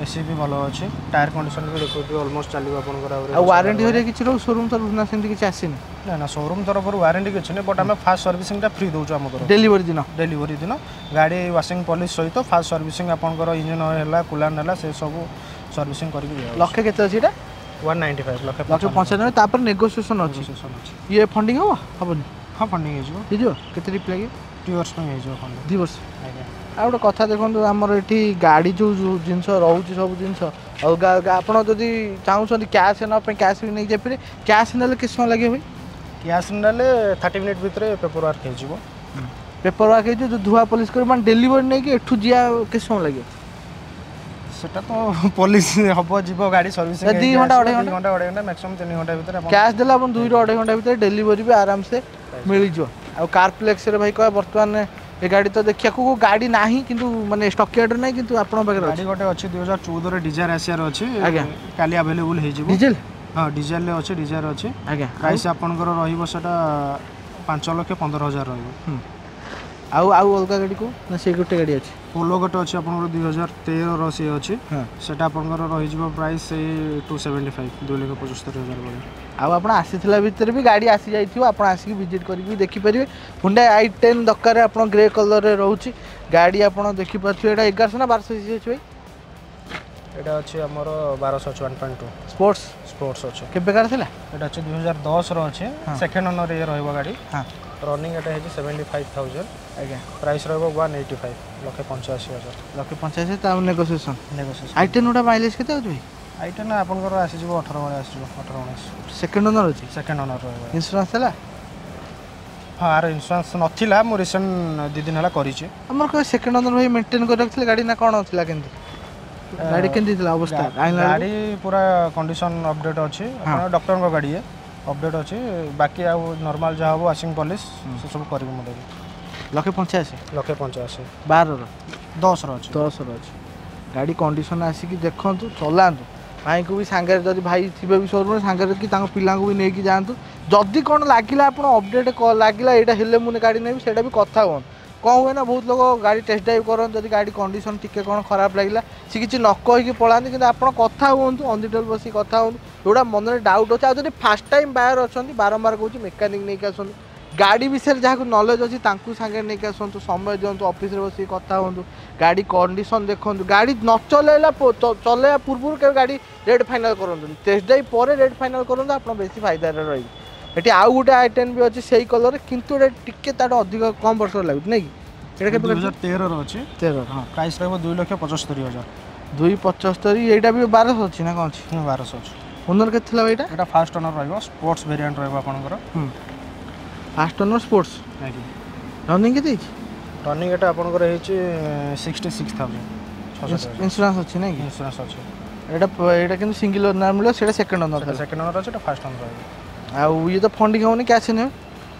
ଏସି ବି ଭଲ ଅଛି ଟାୟାର କଣ୍ଡିସନ୍ ବି ଦେଖୁଥିବେ ଅଲମୋଷ୍ଟ ଚାଲିବ ଆପଣଙ୍କର ଆହୁରି ଆଉ ୱାରେଣ୍ଟି ହେରିକା କିଛି ରହୁ ସୋରୁମ୍ ତରଫରୁ ନା ସେମିତି କିଛି ଆସିନି ନା ନା ସୋରୁମ୍ ତରଫରୁ ୱାରେଣ୍ଟି କିଛି ନାହିଁ ବଟ୍ ଆମେ ଫାଷ୍ଟ ସର୍ଭିସିଂଟା ଫ୍ରି ଦେଉଛୁ ଆମ ତରଫରୁ ଡେଲିଭରି ଦିନ ଡେଲିଭରି ଦିନ ଗାଡ଼ି ୱାସିଂ ପଲିସ୍ ସହିତ ଫାଷ୍ଟ ସର୍ଭିସିଂ ଆପଣଙ୍କର ଇଞ୍ଜିନ୍ ଅଏଲ୍ ହେଲା କୁଲାଣ୍ଟ ହେଲା ସେ ସବୁ ସର୍ଭିସିଂ କରିକି ଦିଆହେଉଛି ଲକ୍ଷେ କେତେ ଅଛି ଏଇଟା ୱାନ୍ ନାଇଣ୍ଟି ଫାଇଭ୍ ଲକ୍ଷେ ଲକ୍ଷେ ପଞ୍ଚାନବେ ତାପରେ ନେଗୋସିଏସନ୍ ଅଛି ନେଗୋସିଏସନ୍ ଅଛି ଇଏ ଫଣ୍ଡିଂ ହେବ ହେବନି ହଁ ଫଣ୍ଡିଂ ହେଇଯିବ ହେଇଯିବ କେତେ ରିପ୍ ଲାଗିବ ଟୁ ଇୟର୍ସ ପାଇଁ ହେଇଯିବ ଫଣ୍ଡିଂ ଦୁଇ ବର୍ଷ ଆଜ୍ଞା ଆଉ ଗୋଟେ କଥା ଦେଖନ୍ତୁ ଆମର ଏଠି ଗାଡ଼ି ଯେଉଁ ଯେଉଁ ଜିନିଷ ରହୁଛି ସବୁ ଜିନିଷ ଅଲଗା ଅଲଗା ଆପଣ ଯଦି ଚାହୁଁଛନ୍ତି କ୍ୟାସ୍ ନେବା ପାଇଁ କ୍ୟାସ୍ ବି ନେଇକି ଯାଇପାରିବେ କ୍ୟାସ୍ ନେଲେ କେତେ ସମୟ ଲାଗିବ ଭାଇ କ୍ୟାସ୍ ନେଲେ ଥାର୍ଟି ମିନିଟ୍ ଭିତରେ ପେପର ୱାର୍କ ହେଇଯିବ ପେପର ୱାର୍କ ହେଇଯିବ ଯେଉଁ ଧୁଆ ପଲିସ୍ କରିବ ମାନେ ଡେଲିଭରି ନେଇକି ଏଠୁ ଯିବା କେତେ ସମୟ ଲାଗିବ ସେଟା ତ ପଲିସ ହବ ଯିବ ଗାଡ଼ି ସର୍ଭିସିଂ ଦି ଘଣ୍ଟା, ଅଢ଼େଇ ଦୁଇ ଘଣ୍ଟା ଅଢ଼େଇ ଘଣ୍ଟା ମ୍ୟାକ୍ସିମମ୍ ତିନି ଘଣ୍ଟା ଭିତରେ ଆପଣ କ୍ୟାସ୍ ଦେଲେ ଆପଣ ଦୁଇରୁ ଅଢ଼େଇ ଘଣ୍ଟା ଭିତରେ ଡେଲିଭରି ବି ଆରାମସେ ମିଳିଯିବ ଆଉ କାରପ୍ଲେକ୍ସରେ ଭାଇ କହ ବର୍ତ୍ତମାନ ଏ ଗାଡ଼ି ତ ଦେଖିବାକୁ ଗାଡ଼ି ନାହିଁ କିନ୍ତୁ ମାନେ ଷ୍ଟକ୍ ୟାର୍ଡରେ ନାହିଁ କିନ୍ତୁ ଆପଣଙ୍କ ପାଖରେ ଅଛି ଗାଡ଼ି ଗୋଟେ ଅଛି ଦୁଇ ହଜାର ଚଉଦରେ ଡିଜାୟାର ଆସିବାର ଅଛି ଆଜ୍ଞା। କାଲି ଆଭେଲେବୁଲ୍ ହେଇଯିବ ଡିଜେଲ ହଁ ଡିଜେଲରେ ଅଛି ଡିଜାୟାର ଅଛି ଆଜ୍ଞା ପ୍ରାଇସ୍ ଆପଣଙ୍କର ରହିବ ସେଟା ପାଞ୍ଚ ଲକ୍ଷ ପନ୍ଦର ହଜାର ରହିବ ହୁଁ। ଆଉ ଆଉ ଅଲଗା ଗାଡ଼ି କେଉଁ ନା ସେଇ ଗୋଟେ ଗାଡ଼ି ଅଛି ପୋଲୋ ଗୋଟେ ଅଛି ଆପଣଙ୍କର ଦୁଇ ହଜାର ତେରର ସିଏ ଅଛି ହଁ ସେଟା ଆପଣଙ୍କର ରହିଯିବ ପ୍ରାଇସ୍ ସେଇ ଟୁ ସେଭେଣ୍ଟି ଫାଇଭ୍ ଦୁଇ ଲକ୍ଷ ପଞ୍ଚସ୍ତରୀ ହଜାର ଭଳିଆ ଆଉ ଆପଣ ଆସିଥିଲା ଭିତରେ ବି ଗାଡ଼ି ଆସିଯାଇଥିବ ଆପଣ ଆସିକି ଭିଜିଟ୍ କରିକି ବି ଦେଖିପାରିବେ ହୁଣ୍ଡାଇ I ten ଦରକାର ଆପଣ ଗ୍ରେ କଲର୍ରେ ରହୁଛି ଗାଡ଼ି ଆପଣ ଦେଖିପାରୁଥିବେ ଏଇଟା ଏଗାରଶହ ନା ବାରଶହ ସିସି ଅଛି ଭାଇ ଏଇଟା ଅଛି ଆମର ବାରଶହ ଅଛି one point two sports sports ଅଛି କେବେକାର ଥିଲା ଏଇଟା ଅଛି ଦୁଇ ହଜାର ଦଶର ଅଛି ସେକେଣ୍ଡ ଓନର୍ ଇଏ ରହିବ ଗାଡ଼ି ହଁ ରନିଂ ଏଟା ହେଇଛି ସେଭେଣ୍ଟି ଫାଇଭ୍ ଥାଉଜେଣ୍ଡ ଆଜ୍ଞା ପ୍ରାଇସ୍ ରହିବ ୱାନ୍ ଏଇଟି ଫାଇଭ୍ ଲକ୍ଷେ ପଞ୍ଚାଅଶୀ ହଜାର ଲକ୍ଷେ ପଞ୍ଚାଅଶୀ ତା ନେଗୋସିଏସନ୍ ନେଗୋସିଏସନ୍ I ten ଗୁଡ଼ା ମାଇଲେଜ୍ କେତେ ଆଉଛି ଭାଇ I ten ଆପଣଙ୍କର ଆସିଯିବ ଅଠର ଭଳିଆ ଆସିଯିବ ଅଠର ଉଣେଇଶ ସେକେଣ୍ଡ ଓନର୍ ଅଛି ସେକେଣ୍ଡ ଓନର୍ ରହିବ ଇନ୍ସୁରାନ୍ସ ଥିଲା ହଁ ଆର ଇନ୍ସୁରାନ୍ସ ନଥିଲା ମୁଁ ରିସେଣ୍ଟ ଦୁଇ ଦିନ ହେଲା କରିଛି ଆମର କେବେ ସେକେଣ୍ଡ ଓନର୍ ଭାଇ ମେଣ୍ଟେନ୍ କରି ରଖିଥିଲେ ଗାଡ଼ି ନା କ'ଣ ଥିଲା କେମିତି ଗାଡ଼ି କେମିତି ଥିଲା ଅବସ୍ଥା ଆଣିଲା ବେଳକୁ? ଗାଡ଼ି ପୁରା କଣ୍ଡିସନ୍ ଅପଡେଟ୍ ଅଛି ଆପଣ ଡକ୍ଟରଙ୍କ ଗାଡ଼ି ଇଏ ଅପଡେଟ୍ ଅଛି ବାକି ଆଉ ନର୍ମାଲ ଯାହା ହେବ ୱାସିଂ ପଲିସ୍ ସେସବୁ କରିକି ମୁଁ ଦେବି ଲକ୍ଷେ ପଞ୍ଚାଅଶୀ ଲକ୍ଷେ ପଞ୍ଚାଅଶୀ ବାରର ଦଶର ଅଛି ଦଶର ଅଛି ଗାଡ଼ି କଣ୍ଡିସନ୍ ଆସିକି ଦେଖନ୍ତୁ ଚଲାନ୍ତୁ ଭାଇଙ୍କୁ ବି ସାଙ୍ଗରେ ଯଦି ଭାଇ ଥିବେ ବି ସୋରୁମ୍ରେ ସାଙ୍ଗରେ କି ତାଙ୍କ ପିଲାଙ୍କୁ ବି ନେଇକି ଯାଆନ୍ତୁ ଯଦି କ'ଣ ଲାଗିଲା ଆପଣ ଅପଡ଼େଟ୍ ଲାଗିଲା ଏଇଟା ହେଲେ ମୁଁ ଗାଡ଼ି ନେବି ସେଇଟା ବି କଥା ହୁଅନ୍ତୁ କ'ଣ ହୁଏ ନା ବହୁତ ଲୋକ ଗାଡ଼ି ଟେଷ୍ଟ ଡ୍ରାଇଭ୍ କରନ୍ତି ଯଦି ଗାଡ଼ି କଣ୍ଡିସନ୍ ଟିକେ କ'ଣ ଖରାପ ଲାଗିଲା ସେ କିଛି ନ କହିକି ପଳାନ୍ତି କିନ୍ତୁ ଆପଣ କଥା ହୁଅନ୍ତୁ ଅନ୍ the table ବସିକି କଥା ହୁଅନ୍ତୁ ଯେଉଁଟା ମନରେ ଡାଉଟ୍ ଅଛି ଆଉ ଯଦି ଫାର୍ଷ୍ଟ ଟାଇମ୍ ବାୟର ଅଛନ୍ତି ବାରମ୍ବାର କହୁଛି ମେକାନିକ୍ ନେଇକି ଆସନ୍ତୁ ଗାଡ଼ି ବିଷୟରେ ଯାହାକୁ ନଲେଜ୍ ଅଛି ତାଙ୍କୁ ସାଙ୍ଗରେ ନେଇକି ଆସନ୍ତୁ ସମୟ ଦିଅନ୍ତୁ ଅଫିସରେ ବସିକି କଥା ହୁଅନ୍ତୁ ଗାଡ଼ି କଣ୍ଡିସନ୍ ଦେଖନ୍ତୁ ଗାଡ଼ି ନ ଚଲେଇଲା ପ- ଚ- ଚଲେଇବା ପୂର୍ବରୁ କେବେ ଗାଡ଼ି ରେଟ୍ ଫାଇନାଲ୍ କରନ୍ତୁନି ଟେଷ୍ଟ ଡ୍ରାଇଭ୍ ପରେ ରେଟ୍ ଫାଇନାଲ୍ କରନ୍ତୁ ଆପଣ ବେଶୀ ଫାଇଦାରେ ରହିବେ ଏଠି ଆଉ ଗୋଟେ I ten ବି ଅଛି ସେଇ କଲର୍ କିନ୍ତୁ ଏଇଟା ଟିକେ ତାଠୁ ଅଧିକ କମ୍ ବର୍ଷର ଲାଗୁଛି ନାଇଁ କି ଏଇଟା କେବେ ଦୁଇ ହଜାର ତେରର ଅଛି ତେର ହଁ ପ୍ରାଇସ୍ ରହିବ ଦୁଇ ଲକ୍ଷ ପଞ୍ଚସ୍ତରୀ ହଜାର ଦୁଇ ପଞ୍ଚସ୍ତରୀ ଏଇଟା ବି ବାରଶହ ଅଛି ନା କ'ଣ ଅଛି ହୁଁ, ବାରଶହ ଅଛି ଓନର୍ କେତେ ଥିଲା ଭାଇ ଏଇଟା ଏଇଟା ଫାର୍ଷ୍ଟ ଓନର୍ ରହିବ ସ୍ପୋର୍ଟସ୍ ଭେରିଆଣ୍ଟ ରହିବ ଆପଣଙ୍କର ହୁଁ ଫାର୍ଷ୍ଟ ଓନର୍ ସ୍ପୋର୍ଟସ୍ ଆଜ୍ଞା ରନିଂ କେତେ ହେଇଛି ରନିଂ ଏଟା ଆପଣଙ୍କର ହେଇଛି ସିକ୍ସଟି ସିକ୍ସ ଥାଉଜେଣ୍ଡ ଛଅଷଠି ହଜାର ଇନ୍ସୁରାନ୍ସ ଅଛି ନାଇଁ କି ଇନ୍ସୁରାନ୍ସ ଅଛି ଏଇଟା ଏଇଟା କିନ୍ତୁ ସିଙ୍ଗଲ ଓନର୍ ମିଳିବ ସେଇଟା ସେକେଣ୍ଡ ଓନର୍ ସେଟା ସେକେଣ୍ଡ ଓନର୍ ଅଛି ଏଟା ଫାର୍ଷ୍ଟ ଓନର୍ ରହିବ ଆଉ ଇଏ ତ ଫଣ୍ଡିଂ ହେବନି କ୍ୟାସ୍ ନେବେ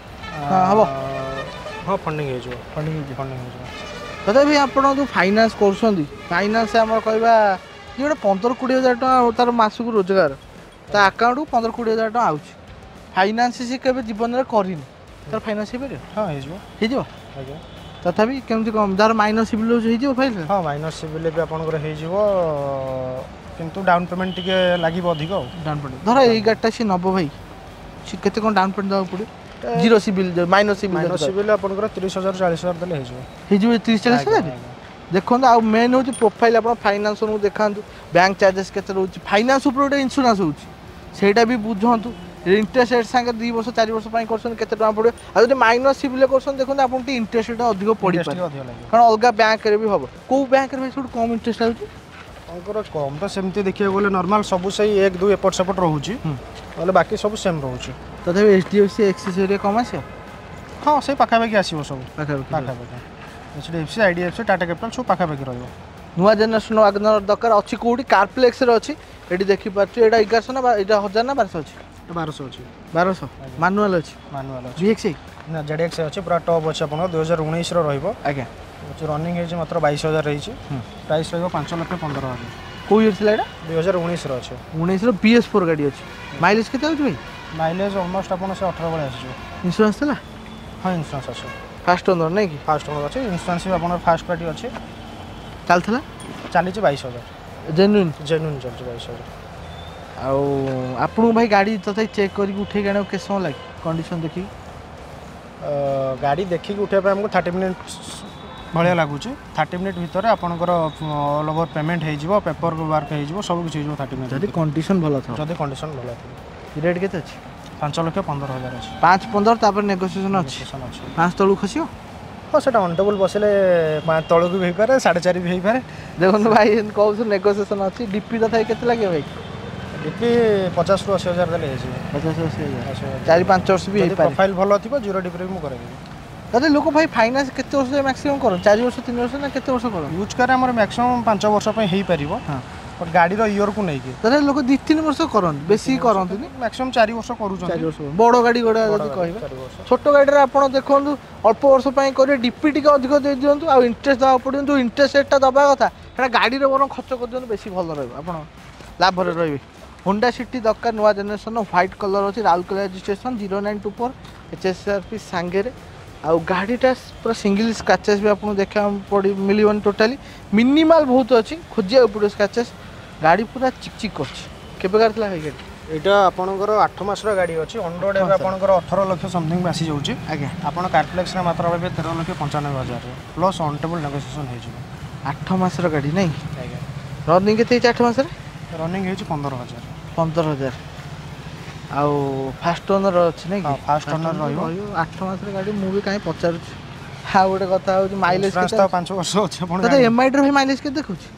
ହଁ, ହବ। ହଁ ଫଣ୍ଡିଂ ହେଇଯିବ ଫଣ୍ଡିଂ ହେଇଯିବ ଫଣ୍ଡିଂ ହେଇଯିବ ତଥାପି ଆପଣ ଯେଉଁ ଫାଇନାନ୍ସ କରୁଛନ୍ତି ଫାଇନାନ୍ସ ଆମର କହିବା ଯେ ଗୋଟେ ପନ୍ଦର କୋଡ଼ିଏ ହଜାର ଟଙ୍କା ତାର ମାସକୁ ରୋଜଗାର ତା ଆକାଉଣ୍ଟକୁ ପନ୍ଦର କୋଡ଼ିଏ ହଜାର ଟଙ୍କା ଆଉଛି ଫାଇନାନ୍ସ ସେ କେବେ ଜୀବନରେ କରିନି ତାର ଫାଇନାନ୍ସ ହେଇପାରିବ ହଁ ହେଇଯିବ ହେଇଯିବ ଆଜ୍ଞା ତଥାପି କେମିତି କ'ଣ ଯାହାର ମାଇନର ସିବିଲ୍ ରହୁଛି ହେଇଯିବ ଫାଇଲ୍ ହଁ ମାଇନର ସିବିଲ୍ ବି ଆପଣଙ୍କର ହେଇଯିବ କିନ୍ତୁ ଡାଉନ୍ ପେମେଣ୍ଟ ଟିକେ ଲାଗିବ ଅଧିକ ଆଉ ଡାଉନ୍ ପେମେଣ୍ଟ ଧର ଏଇ ଗାଡ଼ିଟା ସିଏ ନେବ ଭାଇ ସିଏ କେତେ କ'ଣ ଡାଉନ୍ ପେମେଣ୍ଟ ଦେବାକୁ ପଡ଼ିବ zero CIBIL minor CIBIL minor CIBIL ଆପଣଙ୍କର ତିରିଶ ହଜାର ଚାଳିଶ ହଜାର ଦେଲେ ହେଇଯିବ ହେଇଯିବ ତିରିଶ ଚାଳିଶ ଆଜ୍ଞା, ହଜାର ଆଜ୍ଞା। ଦେଖନ୍ତୁ ଆଉ ମେନ୍ ହେଉଛି ପ୍ରୋଫାଇଲ୍ ଆପଣ ଫାଇନାନ୍ସଙ୍କୁ ଦେଖାନ୍ତୁ ବ୍ୟାଙ୍କ ଚାର୍ଜେସ୍ କେତେ ରହୁଛି ଫାଇନାନ୍ସ ଉପରେ ଗୋଟେ ଇନ୍ସୁରାନ୍ସ ହେଉଛି ସେଇଟା ବି ବୁଝନ୍ତୁ ଇଣ୍ଟରେଷ୍ଟ ରେଟ୍ ସାଙ୍ଗେ ଦୁଇ ବର୍ଷ ଚାରି ବର୍ଷ ପାଇଁ କରୁଛନ୍ତି କେତେ ଟଙ୍କା ପଡ଼ିବ ଆଉ ଯଦି ମାଇନର ସିବିଲ୍ କରୁଛନ୍ତି ଦେଖନ୍ତୁ ଆପଣଙ୍କୁ ଟିକେ ଇଣ୍ଟରେଷ୍ଟ ରେଟ୍ ଅଧିକ Interest ପଡ଼ିପାରେ ଟିକେ ଅଧିକ ଲାଗିବ କାରଣ ଅଲଗା ବ୍ୟାଙ୍କରେ ବି ହେବ କେଉଁ ବ୍ୟାଙ୍କରେ ଭାଇ ସବୁଠୁ କମ୍ ଇଣ୍ଟରେଷ୍ଟ ଲାଗୁଛି ଆପଣଙ୍କର କମ୍ ତ ସେମିତି ଦେଖିବାକୁ ଗଲେ ନର୍ମାଲ ସବୁ ସେଇ ଏକ ଦୁଇ ଏପଟ ସେପଟ ରହୁଛି ହୁଁ। ନହେଲେ ବାକି ସବୁ ସେମ୍ ରହୁଛି ତଥାପି H D F C Axis area come ଆସିବ ହଁ ସେଇ ପାଖାପାଖି ଆସିବ ସବୁ ପାଖାପାଖି ପାଖାପାଖି H D F C I D F C Tata capital ସବୁ ପାଖାପାଖି ରହିବ ନୂଆ ଜେନେରେସନ୍ ୱାଗନର ଦରକାର ଅଛି କେଉଁଠି କାରପ୍ଲେକ୍ସରେ ଅଛି ଏଠି ଦେଖିପାରୁଛୁ ଏଇଟା ଏଗାରଶହ ନା ବା- ଏଇଟା ହଜାର ନା ବାରଶହ ଅଛି ବାରଶହ ଅଛି ବାରଶହ ମାନୁଆଲ ଅଛି ମାନୁଆଲ ଅଛି ଭି ଏକ୍ସ ନା ଜେଡ୍ ଏକ୍ସ ଅଛି ପୁରା ଟପ୍ ଅଛି ଆପଣଙ୍କର ଦୁଇ ହଜାର ଉଣେଇଶର ରହିବ ଆଜ୍ଞା ରନିଂ ହେଇଛି ମାତ୍ର ବାଇଶ ହଜାର ହେଇଛି ହୁଁ। ପ୍ରାଇସ୍ ରହିବ ପାଞ୍ଚ ଲକ୍ଷ ପନ୍ଦର ହଜାର କେଉଁ ଇୟର୍ ଥିଲା ଏଇଟା ଦୁଇ ହଜାର ଉଣେଇଶର ଅଛି ଉଣେଇଶର ବି ଏସ୍ ଫୋର୍ ଗାଡ଼ି ଅଛି ମାଇଲେଜ୍ କେତେ ଆଉଛି ଭାଇ ମାଇଲେଜ୍ ଅଲମୋଷ୍ଟ ଆପଣ ସେ ଅଠର ଭଳିଆ ଆସିଯିବ ଇନ୍ସୁରାନ୍ସ ଥିଲା ହଁ ଇନ୍ସୁରାନ୍ସ ଅଛି ଫାଷ୍ଟ ଓନର୍ ନାଇଁ କି ଫାଷ୍ଟ ଓନର୍ ଅଛି ଇନ୍ସୁରାନ୍ସ ବି ଆପଣଙ୍କର ଫାଷ୍ଟ ପାର୍ଟି ଅଛି ଚାଲିଥିଲା ଚାଲିଛି ବାଇଶ ହଜାର ଜେନ୍ୟୁନ୍ ଜେନ୍ୟୁନ୍ ଚାଲିଛି ବାଇଶ ହଜାର ଆଉ ଆପଣଙ୍କୁ ଭାଇ ଗାଡ଼ି ତଥାପି ଚେକ୍ କରିକି ଉଠେଇକି ଆଣିବାକୁ କେତେ ସମୟ ଲାଗେ କଣ୍ଡିସନ୍ ଦେଖିକି ଅ, ଗାଡ଼ି ଦେଖିକି ଉଠିବା ପାଇଁ ଆମକୁ ଥାର୍ଟି ମିନିଟ୍ସ ଭଳିଆ ଲାଗୁଛି ଥାର୍ଟି ମିନିଟ୍ ଭିତରେ ଆପଣଙ୍କର ଅଲ୍ ଓଭର ପେମେଣ୍ଟ ହେଇଯିବ ପେପର ୱାର୍କ ହେଇଯିବ ସବୁ କିଛି ହେଇଯିବ ଥାର୍ଟି ମିନିଟ୍ ଯଦି କଣ୍ଡିସନ୍ ଭଲ ଥିବ ଯଦି କଣ୍ଡିସନ୍ ଭଲ ଥିବ ରେଟ୍ କେତେ ଅଛି ପାଞ୍ଚ ଲକ୍ଷ ପନ୍ଦର ହଜାର ଅଛି ପାଞ୍ଚ ପନ୍ଦର ତାପରେ ନେଗୋସିଏସନ୍ ଅଛି Negotiation ଅଛି ପାଞ୍ଚ ତଳକୁ ଖସିବ ହଁ ସେଟା ଅନ୍ ଟେବୁଲ୍ ବସିଲେ ପାଞ୍ଚ ତଳକୁ ବି ହେଇପାରେ ସାଢ଼େ ଚାରି ବି ହେଇପାରେ ଦେଖନ୍ତୁ ଭାଇ ଏମିତି କହୁଛୁ ନେଗୋସିଏସନ୍ ଅଛି ଡିପି ତଥାପି କେତେ ଲାଗିବ ଭାଇ ଡିପି ପଚାଶରୁ ଅଶୀ ହଜାର ଦେଲେ ହେଇଯିବ ପଚାଶ ଅଶୀ ହଜାର ଅଶୀ ହଜାର ଚାରି ପାଞ୍ଚ ବର୍ଷ ବି ଯଦି ହେଇପାରେ ପ୍ରୋଫାଇଲ୍ ଭଲ ଥିବ ଜିରୋ ଡିପିରେ ବି ମୁଁ କରେଇଦେବି ଦାଦା ଲୋକ ଭାଇ ଫାଇନାନ୍ସ କେତେ ବର୍ଷ ଯାଏ ମ୍ୟାକ୍ସିମମ୍ କରନ୍ତି ଚାରି ବର୍ଷ ତିନି ବର୍ଷ ନା କେତେ ବର୍ଷ କରନ୍ତି ୟୁଜ୍ କାର୍ ଆମର ମ୍ୟାକ୍ସିମମ୍ ପାଞ୍ଚ ବର୍ଷ ପାଇଁ ହେଇପାରିବ ହଁ ବଟ୍ ଗାଡ଼ିର ଇୟର୍କୁ ନେଇକି ଦାଦା ଲୋକ ଦୁଇ ତିନି ବର୍ଷ କରନ୍ତି ବେଶୀ କରନ୍ତିନି ମ୍ୟାକ୍ସିମମ୍ ଚାରି ବର୍ଷ କରୁଛନ୍ତି ଚାରି ବର୍ଷ ବଡ଼ ଗାଡ଼ି ଗୁଡ଼ା ବଡ଼ ଯଦି ଗାଡ଼ି, କହିବେ ଚାରି ବର୍ଷ ଛୋଟ ଗାଡ଼ିରେ ଆପଣ ଦେଖନ୍ତୁ ଅଳ୍ପ ବର୍ଷ ପାଇଁ କରିବେ ଡିପି ଟିକେ ଅଧିକ ଦେଇ ଦିଅନ୍ତୁ ଆଉ ଇଣ୍ଟରେଷ୍ଟ ଦେବାକୁ ପଡ଼ିବ ଯେଉଁ ଇଣ୍ଟରେଷ୍ଟ ରେଟ୍ଟା ଦେବା କଥା ସେଇଟା ଗାଡ଼ିରେ ବରଂ ଖର୍ଚ୍ଚ କରିଦିଅନ୍ତୁ ବେଶୀ ଭଲ ରହିବ ଆପଣ ଲାଭରେ ରହିବେ ହୋଣ୍ଡା ସିଟି ଦରକାର ନୂଆ ଜେନେରେସନ୍ ହ୍ୱାଇଟ୍ କଲର୍ ଅଛି Rourkela registration zero nine two four H S R P ସାଙ୍ଗରେ ଆଉ ଗାଡ଼ିଟା ପୁରା ସିଙ୍ଗିଲ୍ ସ୍କ୍ରାଚେସ୍ ବି ଆପଣଙ୍କୁ ଦେଖିବାକୁ ପଡ଼ି ମିଳିବନି ଟୋଟାଲି ମିନିମାଲ୍ ବହୁତ ଅଛି ଖୋଜିବାକୁ ପଡ଼ିବ ସ୍କ୍ରାଚେସ୍ ଗାଡ଼ି ପୁରା ଚିକ୍ ଚିକ୍ କରୁଛି କେବେକାର ଥିଲା ଭାଇ ଗାଡ଼ି ଏଇଟା ଆପଣଙ୍କର ଆଠ ମାସର ଗାଡ଼ି ଅଛି ଅନ୍ ରୋଡ଼ ଏବେ ମାସର। ଆପଣଙ୍କର ଅଠର ଲକ୍ଷ ସମଥିଙ୍ଗ ଆସିଯାଉଛି ଆଜ୍ଞା ଆପଣ କାର୍ପ୍ଲେକ୍ସରେ ମାତ୍ର ପାଇବେ ତେର ଲକ୍ଷ ପଞ୍ଚାନବେ ହଜାରରେ ପ୍ଲସ୍ ଅନ୍ ଟେବୁଲ୍ ନେଗୋସିଏସନ୍ ହେଇଯିବ ଆଠ ମାସର ଗାଡ଼ି ନାଇଁ ଆଜ୍ଞା ରନିଂ କେତେ ହେଇଛି ଆଠ ମାସରେ ରନିଂ ହେଇଛି ପନ୍ଦର ହଜାର ପନ୍ଦର ହଜାର ଆଉ ଫାଷ୍ଟ ଓନର୍ ଅଛି ନାଇଁ କି ହଁ, first owner ରହିବ। ଆଠ ମାସର ଗାଡ଼ି ମୁଁ ବି କାହିଁ ପଚାରୁଛି ଆଉ ଗୋଟେ କଥା ହେଉଛି ମାଇଲେଜ ଇନ୍ସୁରାନ୍ସ କେତେ ତ ପାଞ୍ଚ ବର୍ଷ ଅଛି ଆପଣ ଦାଦା ଏମ୍ଆଇଟିର ଭାଇ ମାଇଲେଜ କେତେ ଦେଖୁଛି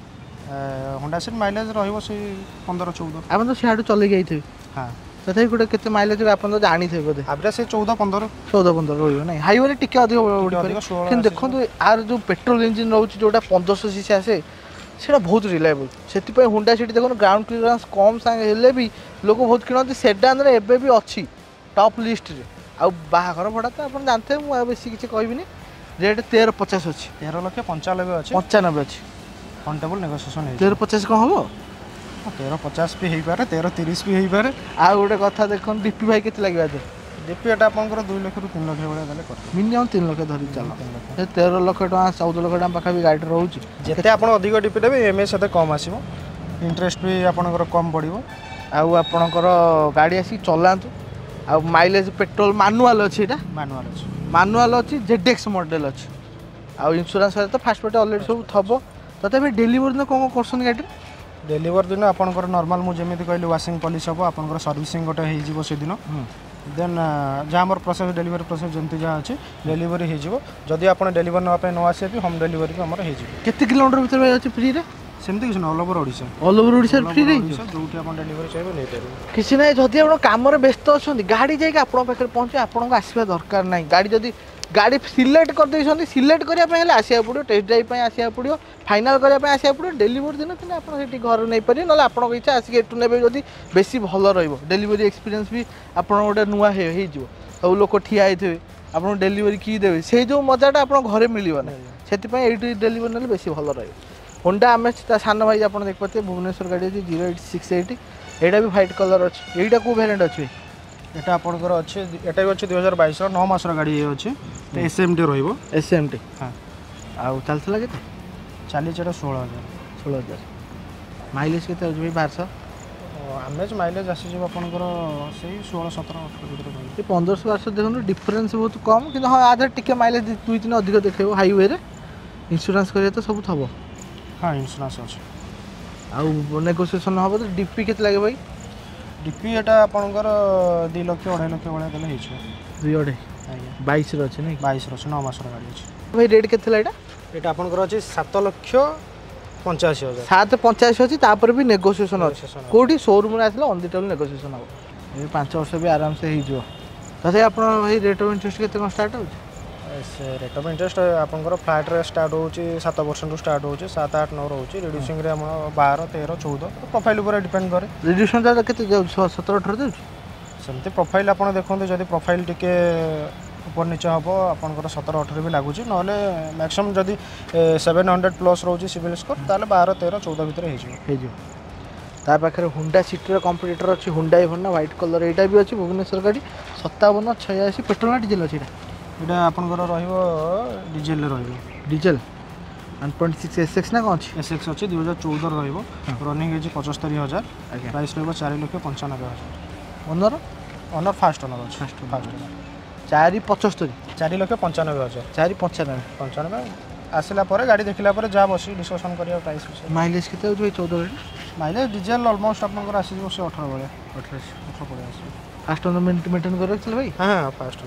ହୋଣ୍ଡା ସିଟି ମାଇଲେଜ ରହିବ ସେଇ ପନ୍ଦର ଚଉଦ ଆପଣ ତ ସିଆଡ଼ୁ ଚଲେଇକି ଯାଇଥିବେ ହଁ ତଥାପି ଗୋଟେ କେତେ ମାଇଲେଜ ଆପଣ ତ ଜାଣିଥିବେ ବୋଧେ ଆଭରେଜ ସେଇ ଚଉଦ ପନ୍ଦର ଚଉଦ ପନ୍ଦର ରହିବ ନାଇଁ ହାଇୱେରେ ଟିକେ ଅଧିକ ଉଡ଼ିପାରେ ଅଧିକ ଷୋହଳ କିନ୍ତୁ ଆସିଯିବ। ଦେଖନ୍ତୁ ଆର ଯେଉଁ ପେଟ୍ରୋଲ ଇଞ୍ଜିନ୍ ରହୁଛି ଯେଉଁଟା ପନ୍ଦରଶହ ସିସି ଆସେ ସେଇଟା ବହୁତ ରିଲାଏବୁଲ୍ ସେଥିପାଇଁ ହୋଣ୍ଡା ସିଟି ଦେଖନ୍ତୁ ଗ୍ରାଉଣ୍ଡ କ୍ଲିୟରାନ୍ସ କମ୍ ସାଙ୍ଗେ ହେଲେ ବି ଲୋକ ବହୁତ କିଣନ୍ତି ସେଡାନରେ ଏବେ ବି ଅଛି ଟପ୍ ଲିଷ୍ଟରେ ଆଉ ବାହାଘର ଭଡ଼ା ତ ଆପଣ ଜାଣିଥିବେ ମୁଁ ଆଉ ବେଶୀ କିଛି କହିବିନି ରେଟ୍ ତେର ପଚାଶ ଅଛି ତେର ଲକ୍ଷ ପଞ୍ଚାନବେ ଅଛି ପଞ୍ଚାନବେ ଅଛି ଅନ୍ ଟେବୁଲ୍ ନେଗୋସିଏସନ୍ ହେଇଯିବ ତେର ପଚାଶ କ'ଣ ହେବ ତେର ପଚାଶ ବି ହେଇପାରେ ତେର ତିରିଶ ବି ହେଇପାରେ ଆଉ ଗୋଟେ କଥା ଦେଖନ୍ତୁ ଡିପି ଭାଇ କେତେ ଲାଗିବ ଏଥିରେ ଡିପି ଏଟା ଆପଣଙ୍କର ଦୁଇ ଲକ୍ଷରୁ ତିନି ଲକ୍ଷ ଭଳିଆ ଦେଲେ କରିଦେବେ ମିନିମମ୍ ତିନି ଲକ୍ଷ ଧରିକି ଚାଲ ତିନି ଲକ୍ଷ ସେ ତେର ଲକ୍ଷ ଟଙ୍କା ଚଉଦ ଲକ୍ଷ ଟଙ୍କା ପାଖାପାଖି ଗାଡ଼ିରେ ରହୁଛି ଯେତେ ଆପଣ ଅଧିକ ଡିପି ଦେବେ ଇଏମ୍ଆଇ ସେତେ କମ୍ ଆସିବ ଇଣ୍ଟରେଷ୍ଟ ବି ଆପଣଙ୍କର କମ୍ ପଡ଼ିବ ଆଉ ଆପଣଙ୍କର ଗାଡ଼ି ଆସିକି ଚଲାନ୍ତୁ ଆଉ ମାଇଲେଜ ପେଟ୍ରୋଲ ମାନୁଆଲ ଅଛି ଏଇଟା ମାନୁଆଲ୍ ଅଛି ମାନୁଆଲ ଅଛି ଜେଡ୍ ଏକ୍ସ ମଡ଼େଲ ଅଛି ଆଉ ଇନ୍ସୁରାନ୍ସ ତ ଫାଷ୍ଟ ପାର୍ଟି ଅଲରେଡ଼ି ସବୁ ଥବ ତଥାପି ଡେଲିଭରି ଦିନ କ'ଣ କ'ଣ କରୁଛନ୍ତି ଗାଡ଼ିରେ ଡେଲିଭରି ଦିନ ଆପଣଙ୍କର ନର୍ମାଲ ମୁଁ ଯେମିତି କହିଲି ୱାସିଂ ପଲିସ୍ ହେବ ଆପଣଙ୍କର ସର୍ଭିସିଂ ଗୋଟେ ହେଇଯିବ ସେଦିନ ଦେନ୍ ଯାହା ଆମର ପ୍ରୋସେସ୍ ଡେଲିଭରି ପ୍ରୋସେସ୍ ଯେମିତି ଯାହା ଅଛି ଡେଲିଭରି ହେଇଯିବ ଯଦି ଆପଣ ଡେଲିଭରି ନେବା ପାଇଁ ନ ଆସିବେ ବି ହୋମ୍ ଡେଲିଭରି ବି ଆମର ହେଇଯିବ କେତେ କିଲୋମିଟର ଭିତରେ ଭାଇ ଅଛି ଫ୍ରିରେ ସେମିତି କିଛି ନୁହଁ all over Odisha all over ଓଡ଼ିଶାରେ ଫ୍ରିରେ ଓଡ଼ିଶା ଯେଉଁଠି ଆପଣ ଡେଲିଭରି ଚାହିଁବେ ନେଇପାରିବେ କିଛି ନାହିଁ ଯଦି ଆପଣ କାମରେ ବ୍ୟସ୍ତ ଅଛନ୍ତି ଗାଡ଼ି ଯାଇକି ଆପଣଙ୍କ ପାଖରେ ପହଞ୍ଚିବ ଆପଣଙ୍କୁ ଆସିବା ଦରକାର ନାହିଁ ଗାଡ଼ି ଯଦି ଗାଡ଼ି ସିଲେକ୍ଟ କରିଦେଇଛନ୍ତି ସିଲେକ୍ଟ କରିବା ପାଇଁ ହେଲେ ଆସିବାକୁ ପଡ଼ିବ ଟେଷ୍ଟ ଡ୍ରାଇଭ୍ ପାଇଁ ଆସିବାକୁ ପଡ଼ିବ ଫାଇନାଲ୍ କରିବା ପାଇଁ ଆସିବାକୁ ପଡ଼ିବ ଡେଲିଭରି ଦିନ କିନ୍ତୁ ଆପଣ ସେଠି ଘରେ ନେଇପାରିବେ ନହେଲେ ଆପଣଙ୍କ ଇଚ୍ଛା ଆସିକି ଏଠୁ ନେବେ ଯଦି ବେଶୀ ଭଲ ରହିବ ଡେଲିଭରି ଏକ୍ସପିରିଏନ୍ସ ବି ଆପଣ ଗୋଟେ ନୂଆ ହେଇ- ହେଇଯିବ ସବୁ ଲୋକ ଠିଆ ହେଇଥିବେ ଆପଣଙ୍କୁ ଡେଲିଭରି କିଏ ଦେବେ ସେଇ ଯେଉଁ ମଜାଟା ଆପଣଙ୍କ ଘରେ ମିଳିବ ନା ସେଥିପାଇଁ ଏଇଠି ଡେଲିଭରି ନେଲେ ବେଶୀ ଭଲ ରହିବ ହୋଣ୍ଡା ଆମେ ତା ସାନ ଭାଇ ଆପଣ ଦେଖିପାରୁଥିବେ ଭୁବନେଶ୍ୱର ଗାଡ଼ି ଅଛି ଜିରୋ ଏଇଟ୍ ସିକ୍ସ ଏଇଟ୍ ଏଇଟା ବି ହ୍ୱାଇଟ୍ କଲର୍ ଅଛି ଏଇଟା କେଉଁ ଭ୍ୟାରିଏଣ୍ଟ ଅଛି ଭାଇ ଏଟା ଆପଣଙ୍କର ଅଛି ଏଟା ବି ଅଛି ଦୁଇ ହଜାର ବାଇଶର ନଅ ମାସର ଗାଡ଼ି ଇଏ ଅଛି ଏସ୍ ଏମ୍ ଟି ରହିବ ଏସ୍ ଏମ୍ ଟି ହଁ ଆଉ ଚାଲିଥିଲା କେତେ ଚାଲିଛି ଏଟା ଷୋହଳ ହଜାର ଷୋହଳ ହଜାର ମାଇଲେଜ କେତେ ଅଛି ଭାଇ ବାରଶହ ଆଭରେଜ ମାଇଲେଜ ଆସିଯିବ ଆପଣଙ୍କର ସେଇ ଷୋହଳ ସତର ଅଠର ଭିତରେ ରହିବ ସେ ପନ୍ଦରଶହ ବାରଶହ ଦେଖନ୍ତୁ ଡିଫରେନ୍ସ ବହୁତ କମ୍ କିନ୍ତୁ ହଁ ଆ ଦେହରେ ଟିକେ ମାଇଲେଜ ଦୁଇ ତିନି ଅଧିକ ଦେଖେଇବ ହାଇୱେରେ ଇନ୍ସୁରାନ୍ସ କରିବା ତ ସବୁ ଥବ ହଁ ଇନ୍ସୁରାନ୍ସ ଅଛି ଆଉ ନେଗୋସିଏସନ୍ ହେବ ତ ଡିପି କେତେ ଲାଗେ ଭାଇ ଡିପି ଏଟା ଆପଣଙ୍କର ଦୁଇ ଲକ୍ଷ ଅଢ଼େଇ ଲକ୍ଷ ଭଳିଆ ଦେଲେ ହେଇଯିବ ଦୁଇ ଅଢ଼େଇ ଆଜ୍ଞା ବାଇଶରେ ଅଛି ନାଇଁ କି ବାଇଶର ଅଛି ନଅ ମାସର ଗାଡ଼ି ଅଛି ଭାଇ ରେଟ୍ କେତେ ଥିଲା ଏଇଟା ଏଇଟା ଆପଣଙ୍କର ଅଛି ସାତ ଲକ୍ଷ ପଞ୍ଚାଅଶୀ ହଜାର ସାତ ପଞ୍ଚାଅଶୀ ଅଛି ତାପରେ ବି ନେଗୋସିଏସନ୍ ଅଛି Negotiation ଅଛି। କେଉଁଠି ସୋରୁମ୍ରେ ଆସିଲେ ଅନ୍ the table negotiation ହେବ ଏବେ ପାଞ୍ଚ ବର୍ଷ ବି ଆରାମସେ ହେଇଯିବ ତଥାପି ଆପଣ ଭାଇ ରେଟ୍ ଅଫ୍ ଇଣ୍ଟରେଷ୍ଟ କେତେ କ'ଣ ଷ୍ଟାର୍ଟ ହେଉଛି ସେ ରେଟ୍ ଅଫ୍ ଇଣ୍ଟରେଷ୍ଟ ଆପଣଙ୍କର ଫ୍ଲାଟ୍ରେ ଷ୍ଟାର୍ଟ ହେଉଛି ସାତ ପରସେଣ୍ଟରୁ ଷ୍ଟାର୍ଟ ହେଉଛି ସାତ ଆଠ ନଅ ରହୁଛି ରିଡ୍ୟୁସିଂରେ ଆମର ବାର ତେର ଚଉଦ ପ୍ରୋଫାଇଲ୍ ଉପରେ ଡିପେଣ୍ଡ କରେ ରିଡ୍ୟୁସନ୍ କେତେ ଯାଉଛି ସତର ଅଠର ଯାଉଛି ସେମିତି ପ୍ରୋଫାଇଲ୍ ଆପଣ ଦେଖନ୍ତୁ ଯଦି ପ୍ରୋଫାଇଲ୍ ଟିକେ ଉପର ନିଚ ହେବ ଆପଣଙ୍କର ସତର ଅଠର ବି ଲାଗୁଛି ନହେଲେ ମ୍ୟାକ୍ସିମମ୍ ଯଦି ସେଭେନ୍ ହଣ୍ଡ୍ରେଡ଼ ପ୍ଲସ୍ ରହୁଛି ସିବିଲ୍ ସ୍କୋର୍ ତାହେଲେ ବାର ତେର ଚଉଦ ଭିତରେ ହେଇଯିବ ହେଇଯିବ ତା ପାଖରେ ହୁଣ୍ଡା ସିଟିର କମ୍ପିଟିଟର ଅଛି ହୁଣ୍ଡାଇ ଭର୍ନା ହ୍ୱାଇଟ୍ କଲର୍ ଏଇଟା ବି ଅଛି ଭୁବନେଶ୍ୱର ଗାଡ଼ି ସତାବନ ଛୟାଅଶୀ ପେଟ୍ରୋଲ ନା ଡିଜେଲ ଅଛି ଏଇଟା ଏଇଟା ଆପଣଙ୍କର ରହିବ ଡିଜେଲରେ ରହିବ diesel one point six S X ନା କ'ଣ ଅଛି ଏସ୍ ଏକ୍ସ ଅଛି ଦୁଇ ହଜାର ଚଉଦର ରହିବ ରନିଂ ହେଇଛି ପଞ୍ଚସ୍ତରୀ ହଜାର ଆଜ୍ଞା ପ୍ରାଇସ୍ ରହିବ ଚାରି ଲକ୍ଷ ପଞ୍ଚାନବେ ହଜାର ଓନର ଅନର୍ ଫାଷ୍ଟ ଅନର୍ ଅଛି ଫାଷ୍ଟ ଫାଷ୍ଟ ଅନର୍ ଚାରି ପଞ୍ଚସ୍ତରୀ ଚାରି ଲକ୍ଷ ପଞ୍ଚାନବେ ହଜାର ଚାରି ପଞ୍ଚାନବେ ପଞ୍ଚାନବେ ଆସିଲା ପରେ ଗାଡ଼ି ଦେଖିଲା ପରେ ଯାହା ବସିକି ଡିସ୍କସନ୍ କରିବା ପ୍ରାଇସ୍ ବିଷୟରେ ମାଇଲେଜ କେତେ ହେଉଛି ଭାଇ ଚଉଦ ଗାଡ଼ି ମାଇଲେଜ୍ ଡିଜେଲ ଅଲମୋଷ୍ଟ ଆପଣଙ୍କର ଆସିଯିବ ସେ ଅଠର ଭଳିଆ ଅଠର ଅଠର ଭଳିଆ ଆସିବ ଫାଷ୍ଟ ଓନର ମେଣ୍ଟେନ୍ କରି ରଖିଥିଲେ ଭାଇ ହଁ ହଁ ଫାଷ୍ଟ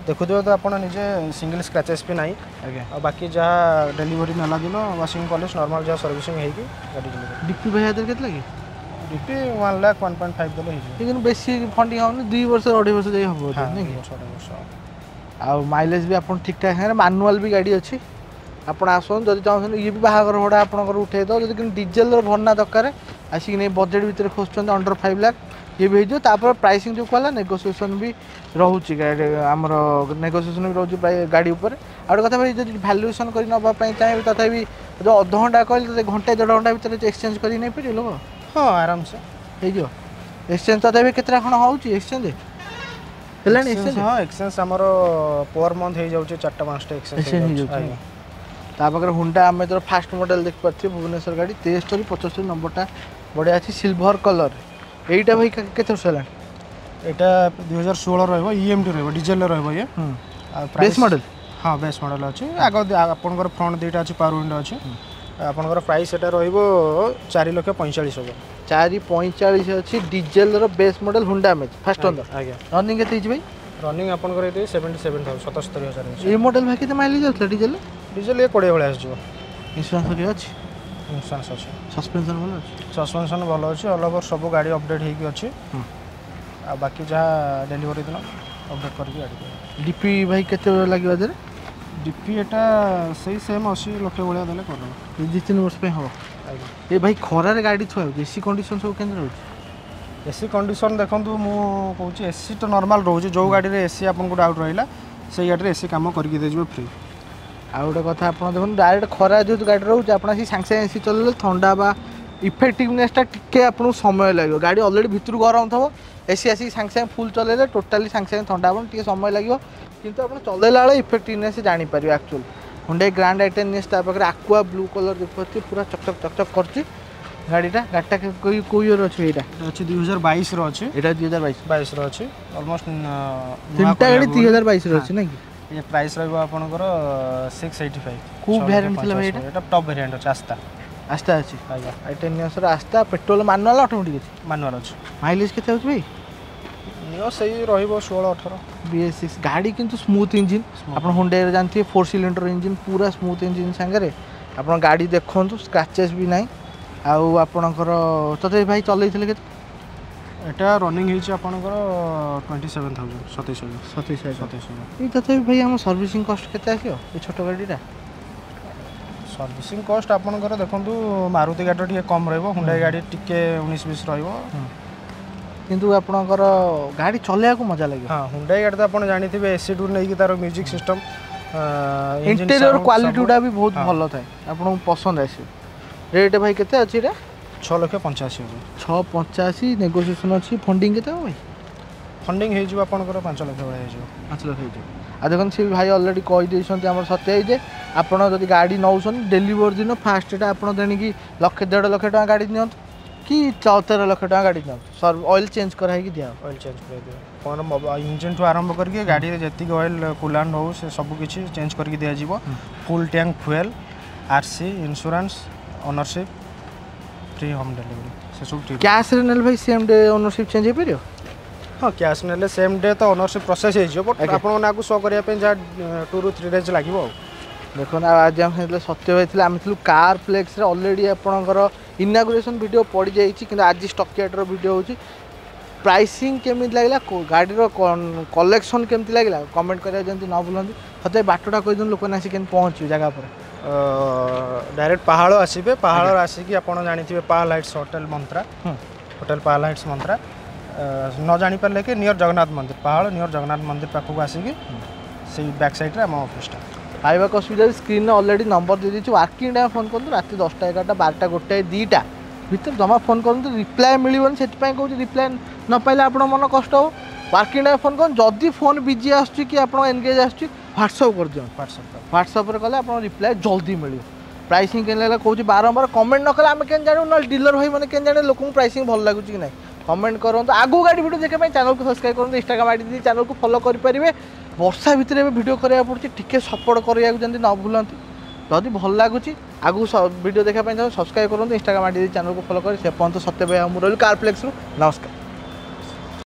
ଦେଖୁଥିବେ ତ ଆପଣ ନିଜେ ସିଙ୍ଗଲ ସ୍କ୍ରାଚେସ୍ ବି ନାହିଁ ଆଜ୍ଞା ଆଉ ବାକି ଯାହା ଡେଲିଭରି ନେଲା ଦିନ ୱାସିଂ ପଲିସ୍ ନର୍ମାଲ୍ ଯାହା ସର୍ଭିସିଂ ହେଇକି ଗାଡ଼ି ଡେଲିଭରି ଡିପି ଭାଇ ହାତରେ କେତେ ଲାଗେ DP one lakh one point five ଦେଲେ ହେଇଯିବ କିନ୍ତୁ ବେଶୀ ଫଣ୍ଡିଂ ହେବନି ଦୁଇ ବର୍ଷ ଅଢ଼େଇ ବର୍ଷ ଯାଇ ହେବ ହଁ ନାଇଁ ଦୁଇ କି ବର୍ଷ ଅଢ଼େଇ ବର୍ଷ ଆଉ ମାଇଲେଜ୍ ବି ଆପଣ ଠିକ୍ ଠାକ୍ ସାଙ୍ଗରେ ମାନୁଆଲ୍ ବି ଗାଡ଼ି ଅଛି ଆପଣ ଆସନ୍ତୁ ଯଦି ଚାହୁଁଛନ୍ତି ଇଏ ବି ବାହାଘର ଭଡ଼ା ଆପଣଙ୍କର ଉଠେଇ ଦେବ ଯଦି କିନ୍ତୁ ଡିଜେଲର ଭର୍ଣ୍ଣା ଦରକାର ଆସିକି ନେଇ ବଜେଟ୍ ଭିତରେ ଖୋଜୁଛନ୍ତି ଅଣ୍ଡର ଫାଇଭ୍ ଲାખ ଇଏ ବି ହେଇଯିବ ତାପରେ ପ୍ରାଇସିଂ ଯେଉଁ କହିଲା ନେଗୋସିଏସନ୍ ବି ରହୁଛି ଗାଡ଼ି ଆମର ନେଗୋସିଏସନ୍ ବି ରହୁଛି ପ୍ରାୟ ଗାଡ଼ି ଉପରେ ଆଉ ଗୋଟେ କଥା ଭାଇ ଯଦି ଭ୍ୟାଲୁଏସନ୍ କରି ନେବା ପାଇଁ ଚାହିଁବେ ତଥାପି ଯେଉଁ ଅଧଘଣ୍ଟା କହିଲେ ତ ଘଣ୍ଟେ ଦେଢ଼ ଘଣ୍ଟା ଭିତରେ ଏକ୍ସଚେଞ୍ଜ କରିକି ନେଇପାରିବେ ଲୋକ ହଁ ଆରାମସେ ହେଇଯିବ ଏକ୍ସଚେଞ୍ଜ ତଥାପି କେତେଟା କ'ଣ ହେଉଛି ଏକ୍ସଚେଞ୍ଜ ହେଲାଣି ଏକ୍ସଚେଞ୍ଜ ହଁ ଏକ୍ସଚେଞ୍ଜ ଆମର ପର ମନ୍ଥ ହେଇଯାଉଛି ଚାରିଟା ପାଞ୍ଚଟା ଏକ୍ସଚେଞ୍ଜ ଏକ୍ସଚେଞ୍ଜ ହେଇଯାଉଛି ଆଜ୍ଞା ତା ପାଖରେ ହୁଣ୍ଡା ଆମେ ଯେତେବେଳେ ଫାଷ୍ଟ ମଡ଼େଲ୍ ଦେଖିପାରୁଥିବେ ଭୁବନେଶ୍ୱର ଗାଡ଼ି ତେସ୍ତରୀ ପଚସ୍ତରୀ ନମ୍ବରଟା ବଢ଼ିଆ ଅଛି ସିଲଭର କଲର୍ ଏଇଟା ଭାଇ କେ- କେତେ ବର୍ଷ ହେଲାଣି ଏଇଟା ଦୁଇ ହଜାର ଷୋହଳ ରହିବ ଇଏମ୍ଟି ରହିବ ଡିଜେଲରେ ରହିବ ଇଏ ଆଉ ବେସ୍ ପ୍ରାଇସ୍ ମଡ଼େଲ୍ ହଁ ବେସ୍ ମଡ଼େଲ୍ ଅଛି ଆଗ ଆପଣଙ୍କର ଫ୍ରଣ୍ଟ ଦୁଇଟା ଅଛି ପାୱାର ୱିଣ୍ଡୋ ଅଛି ଆପଣଙ୍କର ପ୍ରାଇସ୍ ଏଟା ରହିବ ଚାରି ଲକ୍ଷ ପଇଁଚାଳିଶ ହଜାର ଚାରି ପଇଁଚାଳିଶ ଅଛି ଡିଜେଲର base model Honda Amaze first owner ଆଜ୍ଞା ରନିଂ କେତେ ହେଇଛି ଭାଇ ରନିଂ ଆପଣଙ୍କର ଏଇଠି ସେଭେଣ୍ଟି ସେଭେନ୍ ଥାଉଜେଣ୍ଡ ସତସ୍ତରୀ ହଜାର ହେଇଛି ଏଇ ମଡ଼େଲ୍ ଭାଇ କେତେ ମାଇଲେଜ୍ ଯାଉଥିଲା ଡିଜେଲ ଡିଜେଲ ଇଏ କୋଡ଼ିଏ ଭଳିଆ ଆସିଯିବ ଇନ୍ସୁରାନ୍ସ ହେରିକା ଅଛି ଇନ୍ସୁରାନ୍ସ ଅଛି ସସ୍ପେନ୍ସନ୍ ଭଲ ଅଛି ସସ୍ପେନ୍ସନ୍ ଭଲ ଅଛି ଅଲ୍ ଓଭର ସବୁ ଗାଡ଼ି ଅପଡ଼େଟ୍ ହେଇକି ଅଛି ହୁଁ। ଆଉ ବାକି ଯାହା ଡେଲିଭରି ଦିନ ଅପଡ଼େଟ୍ କରିକି ଗାଡ଼ି ଦେବେ ଡିପି ଭାଇ କେତେ ଲାଗିବ ଏଥିରେ ଡିପି ଏଟା ସେଇ ସେମ୍ ଅଶୀ ଲକ୍ଷ ଭଳିଆ ଦେଲେ କରିଦେବ ଦୁଇ ତିନି ବର୍ଷ ପାଇଁ ହେବ ଆଜ୍ଞା ଏ ଭାଇ ଖରାରେ ଗାଡ଼ି ଥୁଆ ହେଉଛି ଏସି କଣ୍ଡିସନ୍ ସବୁ କେମିତି ରହୁଛି ଏସି କଣ୍ଡିସନ୍ ଦେଖନ୍ତୁ ମୁଁ କହୁଛି ଏସି ତ ନର୍ମାଲ୍ ରହୁଛି ଯେଉଁ ଗାଡ଼ିରେ ଏସି ଆପଣଙ୍କୁ ଡାଉଟ୍ ରହିଲା ସେଇ ଗାଡ଼ିରେ ଏସି କାମ କରିକି ଦେଇଯିବ ଫ୍ରି ଆଉ ଗୋଟେ କଥା ଆପଣ ଦେଖନ୍ତୁ ଡାଇରେକ୍ଟ ଖରା ଯେହେତୁ ଗାଡ଼ି ରହୁଛି ଆପଣ ଆସି ସାଙ୍ଗେ ସାଙ୍ଗେ ଏସି ଚଲେଇଲେ ଥଣ୍ଡା ବା ଇଫେକ୍ଟିଭନେସଟା ଟିକେ ଆପଣଙ୍କୁ ସମୟ ଲାଗିବ ଗାଡ଼ି ଅଲରେଡ଼ି ଭିତରୁ ଗରମ ଥିବ ଏସି ଆସିକି ସାଙ୍ଗେ ସାଙ୍ଗେ ଫୁଲ୍ ଚଲେଇଲେ ଟୋଟାଲି ସାଙ୍ଗେ ସାଙ୍ଗେ ଥଣ୍ଡା ହେବ ଟିକେ ସମୟ ଲାଗିବ କିନ୍ତୁ ଆପଣ ଚଲେଇଲା ବେଳେ ଇଫେକ୍ଟିଭନେସ୍ ଜାଣିପାରିବେ ଆକ୍ଚୁଆଲି ହୁଣ୍ଡାଇ ଗ୍ରାଣ୍ଡ ଆଇଟେନ୍ ତା ପାଖରେ ଆକୁଆ ବ୍ଲୁ କଲର୍ ଦେଖିପାରୁଥିବେ ପୁରା ଚକଚକ ଚକଚକ କରୁଛି ଗାଡ଼ିଟା ଗାଡ଼ିଟା କେଉଁ କେଉଁ ଇୟର୍ ଅଛି ଏଇଟା ଏଟା ଅଛି ଦୁଇ ହଜାର ବାଇଶର ଅଛି ଏଇଟା ଦୁଇ ହଜାର ବାଇଶ ବାଇଶର ଅଛି ଅଲମୋଷ୍ଟ ତିନିଟା ଗାଡ଼ି ଦୁଇ ହଜାର ବାଇଶରେ ଅଛି ନାଇଁ କି ଇଏ ପ୍ରାଇସ୍ ରହିବ ଆପଣଙ୍କର ସିକ୍ସ ଏଇଟି ଫାଇଭ୍ କୋଉ variant ଥିଲା ଭାଇ ଏଇଟା? ଏଇଟା ଟପ୍ ଭେରିଏଣ୍ଟ ଅଛି ଆସ୍ତା ଆସ୍ତା ଅଛି ଆଜ୍ଞା ଆଇଟେନ୍ ନିଅସର ଆସ୍ତା ପେଟ୍ରୋଲ ମାନୁଆଲ୍ ଅଟୋମେଟିକ୍ ଅଛି ମାନୁଆଲ୍ ଅଛି ମାଇଲେଜ୍ କେତେ ହେଉଛି ଭାଇ ନିଅ ସେଇ ରହିବ ଷୋହଳ ଅଠର ବି ଏସ୍ ସିକ୍ସ ଗାଡ଼ି କିନ୍ତୁ ସ୍ମୁଥ୍ ଇଞ୍ଜିନ୍ ଆପଣ ହୁଣ୍ଡାଇରେ ଜାଣିଥିବେ ଫୋର୍ ସିଲିଣ୍ଡର ଇଞ୍ଜିନ୍ ପୁରା ସ୍ମୁଥ୍ ଇଞ୍ଜିନ୍ ସାଙ୍ଗରେ ଆପଣ ଗାଡ଼ି ଦେଖନ୍ତୁ ସ୍କ୍ରାଚେସ୍ ବି ନାହିଁ ଆଉ ଆପଣଙ୍କର ତଥାପି ଭାଇ ଚଲେଇଥିଲେ କେତେ ଏଟା ରନିଂ ହେଇଛି ଆପଣଙ୍କର ଟ୍ୱେଣ୍ଟି ସେଭେନ୍ ଥାଉଜେଣ୍ଡ ସତେଇଶ ହଜାର ସତେଇଶ ହଜାର ସତେଇଶ ହଜାର ଏଇ ତଥାପି ଭାଇ ଆମ ସର୍ଭିସିଂ କଷ୍ଟ କେତେ ଆସିବ ଏ ଛୋଟ ଗାଡ଼ିଟା ସର୍ଭିସିଂ କଷ୍ଟ ଆପଣଙ୍କର ଦେଖନ୍ତୁ ମାରୁତି ଗାଡ଼ିର ଟିକେ କମ୍ ରହିବ ହୁଣ୍ଡାଇ ଗାଡ଼ି ଟିକେ ଉଣେଇଶ ବିଶ ରହିବ କିନ୍ତୁ ଆପଣଙ୍କର ଗାଡ଼ି ଚଲେଇବାକୁ ମଜା ଲାଗିବ ହଁ ହୁଣ୍ଡାଇ ଗାଡ଼ି ତ ଆପଣ ଜାଣିଥିବେ ଏସିଠୁ ନେଇକି ତାର ମ୍ୟୁଜିକ୍ ସିଷ୍ଟମ୍ ଇଣ୍ଟେରିୟର କ୍ୱାଲିଟି ଗୁଡ଼ା ବି ବହୁତ ଭଲ ଥାଏ ଆପଣଙ୍କୁ ପସନ୍ଦ ଆସିବ ରେଟ୍ ଭାଇ କେତେ ଅଛି ଏଇଟା ଛଅ ଲକ୍ଷ ପଞ୍ଚାଅଶୀ ହଜାର ଛଅ ପଞ୍ଚାଅଶୀ ନେଗୋସିଏସନ୍ ଅଛି ଫଣ୍ଡିଂ କେତେ ହେବ ଭାଇ ଫଣ୍ଡିଂ ହେଇଯିବ ଆପଣଙ୍କର ପାଞ୍ଚ ଲକ୍ଷ ଭଳିଆ ହେଇଯିବ ପାଞ୍ଚ ଲକ୍ଷ ହେଇଯିବ ଆଉ ଦେଖନ୍ତୁ ସେ ଭାଇ ଅଲରେଡ଼ି କହିଦେଇଛନ୍ତି ଆମର ସତ୍ୟ ଯେ ଆପଣ ଯଦି ଗାଡ଼ି ନେଉଛନ୍ତି ଡେଲିଭରି ଦିନ ଫାଷ୍ଟଟା ଆପଣ ଦେଣିକି ଲକ୍ଷେ ଦେଢ଼ ଲକ୍ଷ ଟଙ୍କା ଗାଡ଼ି ନିଅନ୍ତୁ କି ତେର ଲକ୍ଷ ଟଙ୍କା ଗାଡ଼ି ନିଅନ୍ତୁ ସର୍ ଅଏଲ୍ ଚେଞ୍ଜ କରାହେଇକି ଦିଆହେବ ଅଏଲ୍ ଚେଞ୍ଜ କରିଦିଅ କ'ଣ ଇଞ୍ଜିନ୍ଠୁ ଆରମ୍ଭ କରିକି ଗାଡ଼ିରେ ଯେତିକି ଅଏଲ୍ କୁଲାଣ୍ଟ ହଉ ସେ ସବୁ କିଛି ଚେଞ୍ଜ କରିକି ଦିଆଯିବ ଫୁଲ୍ tank fuel R C insurance ownership free home delivery ସେସବୁ ଫ୍ରି କ୍ୟାସ୍ରେ ନେଲେ ଭାଇ ସେମ୍ ଡେ ଓନରସିପ୍ ଚେଞ୍ଜ ହେଇପାରିବ ହଁ କ୍ୟାସ୍ ନେଲେ ସେମ୍ ଡେ ତ ଓନରସିପ୍ ପ୍ରୋସେସ୍ ହେଇଯିବ ବଟ୍ ଆଜ୍ଞା। ଆପଣଙ୍କ ନାଁକୁ ଶୋ କରିବା ପାଇଁ ଯାହା ଟୁ ରୁ ଥ୍ରୀ ଡେଜ୍ ଲାଗିବ ଆଉ ଦେଖନ୍ତୁ ଆଉ ଆଜି ଆମ ସାଙ୍ଗେ ସତ୍ୟ ଭାଇ ଥିଲେ ଆମେ ଥିଲୁ କାର୍ ପ୍ଲେକ୍ସରେ ଅଲରେଡ଼ି ଆପଣଙ୍କର ଇନାଗୁରେସନ୍ ଭିଡ଼ିଓ ପଡ଼ିଯାଇଛି କିନ୍ତୁ ଆଜି ଷ୍ଟକୟାର୍ଡ଼ର ଭିଡ଼ିଓ ହେଉଛି ପ୍ରାଇସିଂ କେମିତି ଲାଗିଲା କୋ- ଗାଡ଼ିର କଲେକ୍ସନ୍ କେମିତି ଲାଗିଲା କମେଣ୍ଟ କରିବାକୁ ଯେମିତି ନ ଭୁଲନ୍ତି ସତେ ବାଟଟା କହିଦିଅନ୍ତୁ ଲୋକମାନେ ଆସି କେମିତି ପହଞ୍ଚିବେ ଜାଗା ଉପରେ ଡାଇରେକ୍ଟ ପାହାଳ ଆସିବେ ପାହାଳ ଆସିକି ଆପଣ ଜାଣିଥିବେ ପାହାଳ ହାଇଟ୍ସ ହୋଟେଲ ମନ୍ତ୍ରା ହୁଁ। ହୋଟେଲ ପାହାଳ ହାଇଟ୍ସ ମନ୍ତ୍ରା ନ ଜାଣିପାରିଲେ କି ନିୟର ଜଗନ୍ନାଥ ମନ୍ଦିର ପାହାଳ ନିୟର ଜଗନ୍ନାଥ ମନ୍ଦିର ପାଖକୁ ଆସିକି ସେଇ ବ୍ୟାକ୍ ସାଇଡ଼୍ରେ ଆମ ଅଫିସଟା ପାଇବାକୁ ଅସୁବିଧା ସ୍କ୍ରିନ୍ରେ ଅଲରେଡ଼ି ନମ୍ବର ଦେଇଦେଇଛି ୱାର୍କିଂ ଟାଇମ୍ ଫୋନ୍ କରନ୍ତୁ ରାତି ଦଶଟା ଏଗାରଟା ବାରଟା ଗୋଟାଏ ଦୁଇଟା ଭିତରେ ଜମା ଫୋନ୍ କରନ୍ତୁ ରିପ୍ଲାଏ ମିଳିବନି ସେଥିପାଇଁ କହୁଛି ରିପ୍ଲାଏ ନ ପାଇଲେ ଆପଣଙ୍କ ମନ କଷ୍ଟ ହେବ ୱାର୍କିଂ ଟାଇମ୍ ଫୋନ୍ କରନ୍ତୁ ଯଦି ଫୋନ୍ ବିଜି ଆସୁଛି କି ଆପଣ ଏନଗେଜ୍ ଆସୁଛି ହ୍ୱାଟ୍ସଅପ୍ କରିଦିଅନ୍ତୁ ହ୍ୱାଟ୍ସଆପ୍ ହ୍ୱାଟ୍ସଆପ୍ରେ କଲେ ଆପଣଙ୍କ ରିପ୍ଲାଏ ଜଲ୍ଦି ମିଳିବ ପ୍ରାଇସିଂ କେମିତି ଲାଗିଲା କହୁଛି ବାରମ୍ବାର କମେଣ୍ଟ ନ କଲେ ଆମେ କେମିତି ଜାଣିବୁ ନହେଲେ ଡିଲର ଭାଇ ମାନେ କେମିତି ଜାଣିବେ ଲୋକଙ୍କୁ ପ୍ରାଇସିଂ ଭଲ ଲାଗୁଛି କି ନାହିଁ କମେଣ୍ଟ କରନ୍ତୁ ଆଗକୁ ଗାଡ଼ି ଭିଡ଼ିଓ ଦେଖିବା ପାଇଁ ଚ୍ୟାନେଲକୁ ସବସ୍କ୍ରାଇବ୍ କରନ୍ତୁ ଇନଷ୍ଟାଗ୍ରାମ ଆଇଡ଼ି ଦେଇ ଚ୍ୟାନେଲକୁ ଫଲୋ କରିପାରିବେ ବର୍ଷା ଭିତରେ ଏବେ ଭିଡ଼ିଓ କରିବାକୁ ପଡ଼ୁଛି ଟିକେ ସପୋର୍ଟ କରିବାକୁ ଯେମିତି ନ ଭୁଲନ୍ତି ଯଦି ଭଲ ଲାଗୁଛି ଆଗକୁ ଭିଡ଼ିଓ ଦେଖିବା ପାଇଁ ଚାହୁଁ ସବସ୍କ୍ରାଇବ୍ କରନ୍ତୁ ଇନଷ୍ଟାଗ୍ରାମ ଆଇଡ଼ି ଦେଇ ଚ୍ୟାନେଲକୁ ଫଲୋ କରି ସେ ପର୍ଯ୍ୟନ୍ତ ସତ୍ୟ ଭାଇ ଆଉ ମୁଁ ରହିଲୁ କାର୍ ପ୍ଲେକ୍ସରୁ ନମସ୍କାର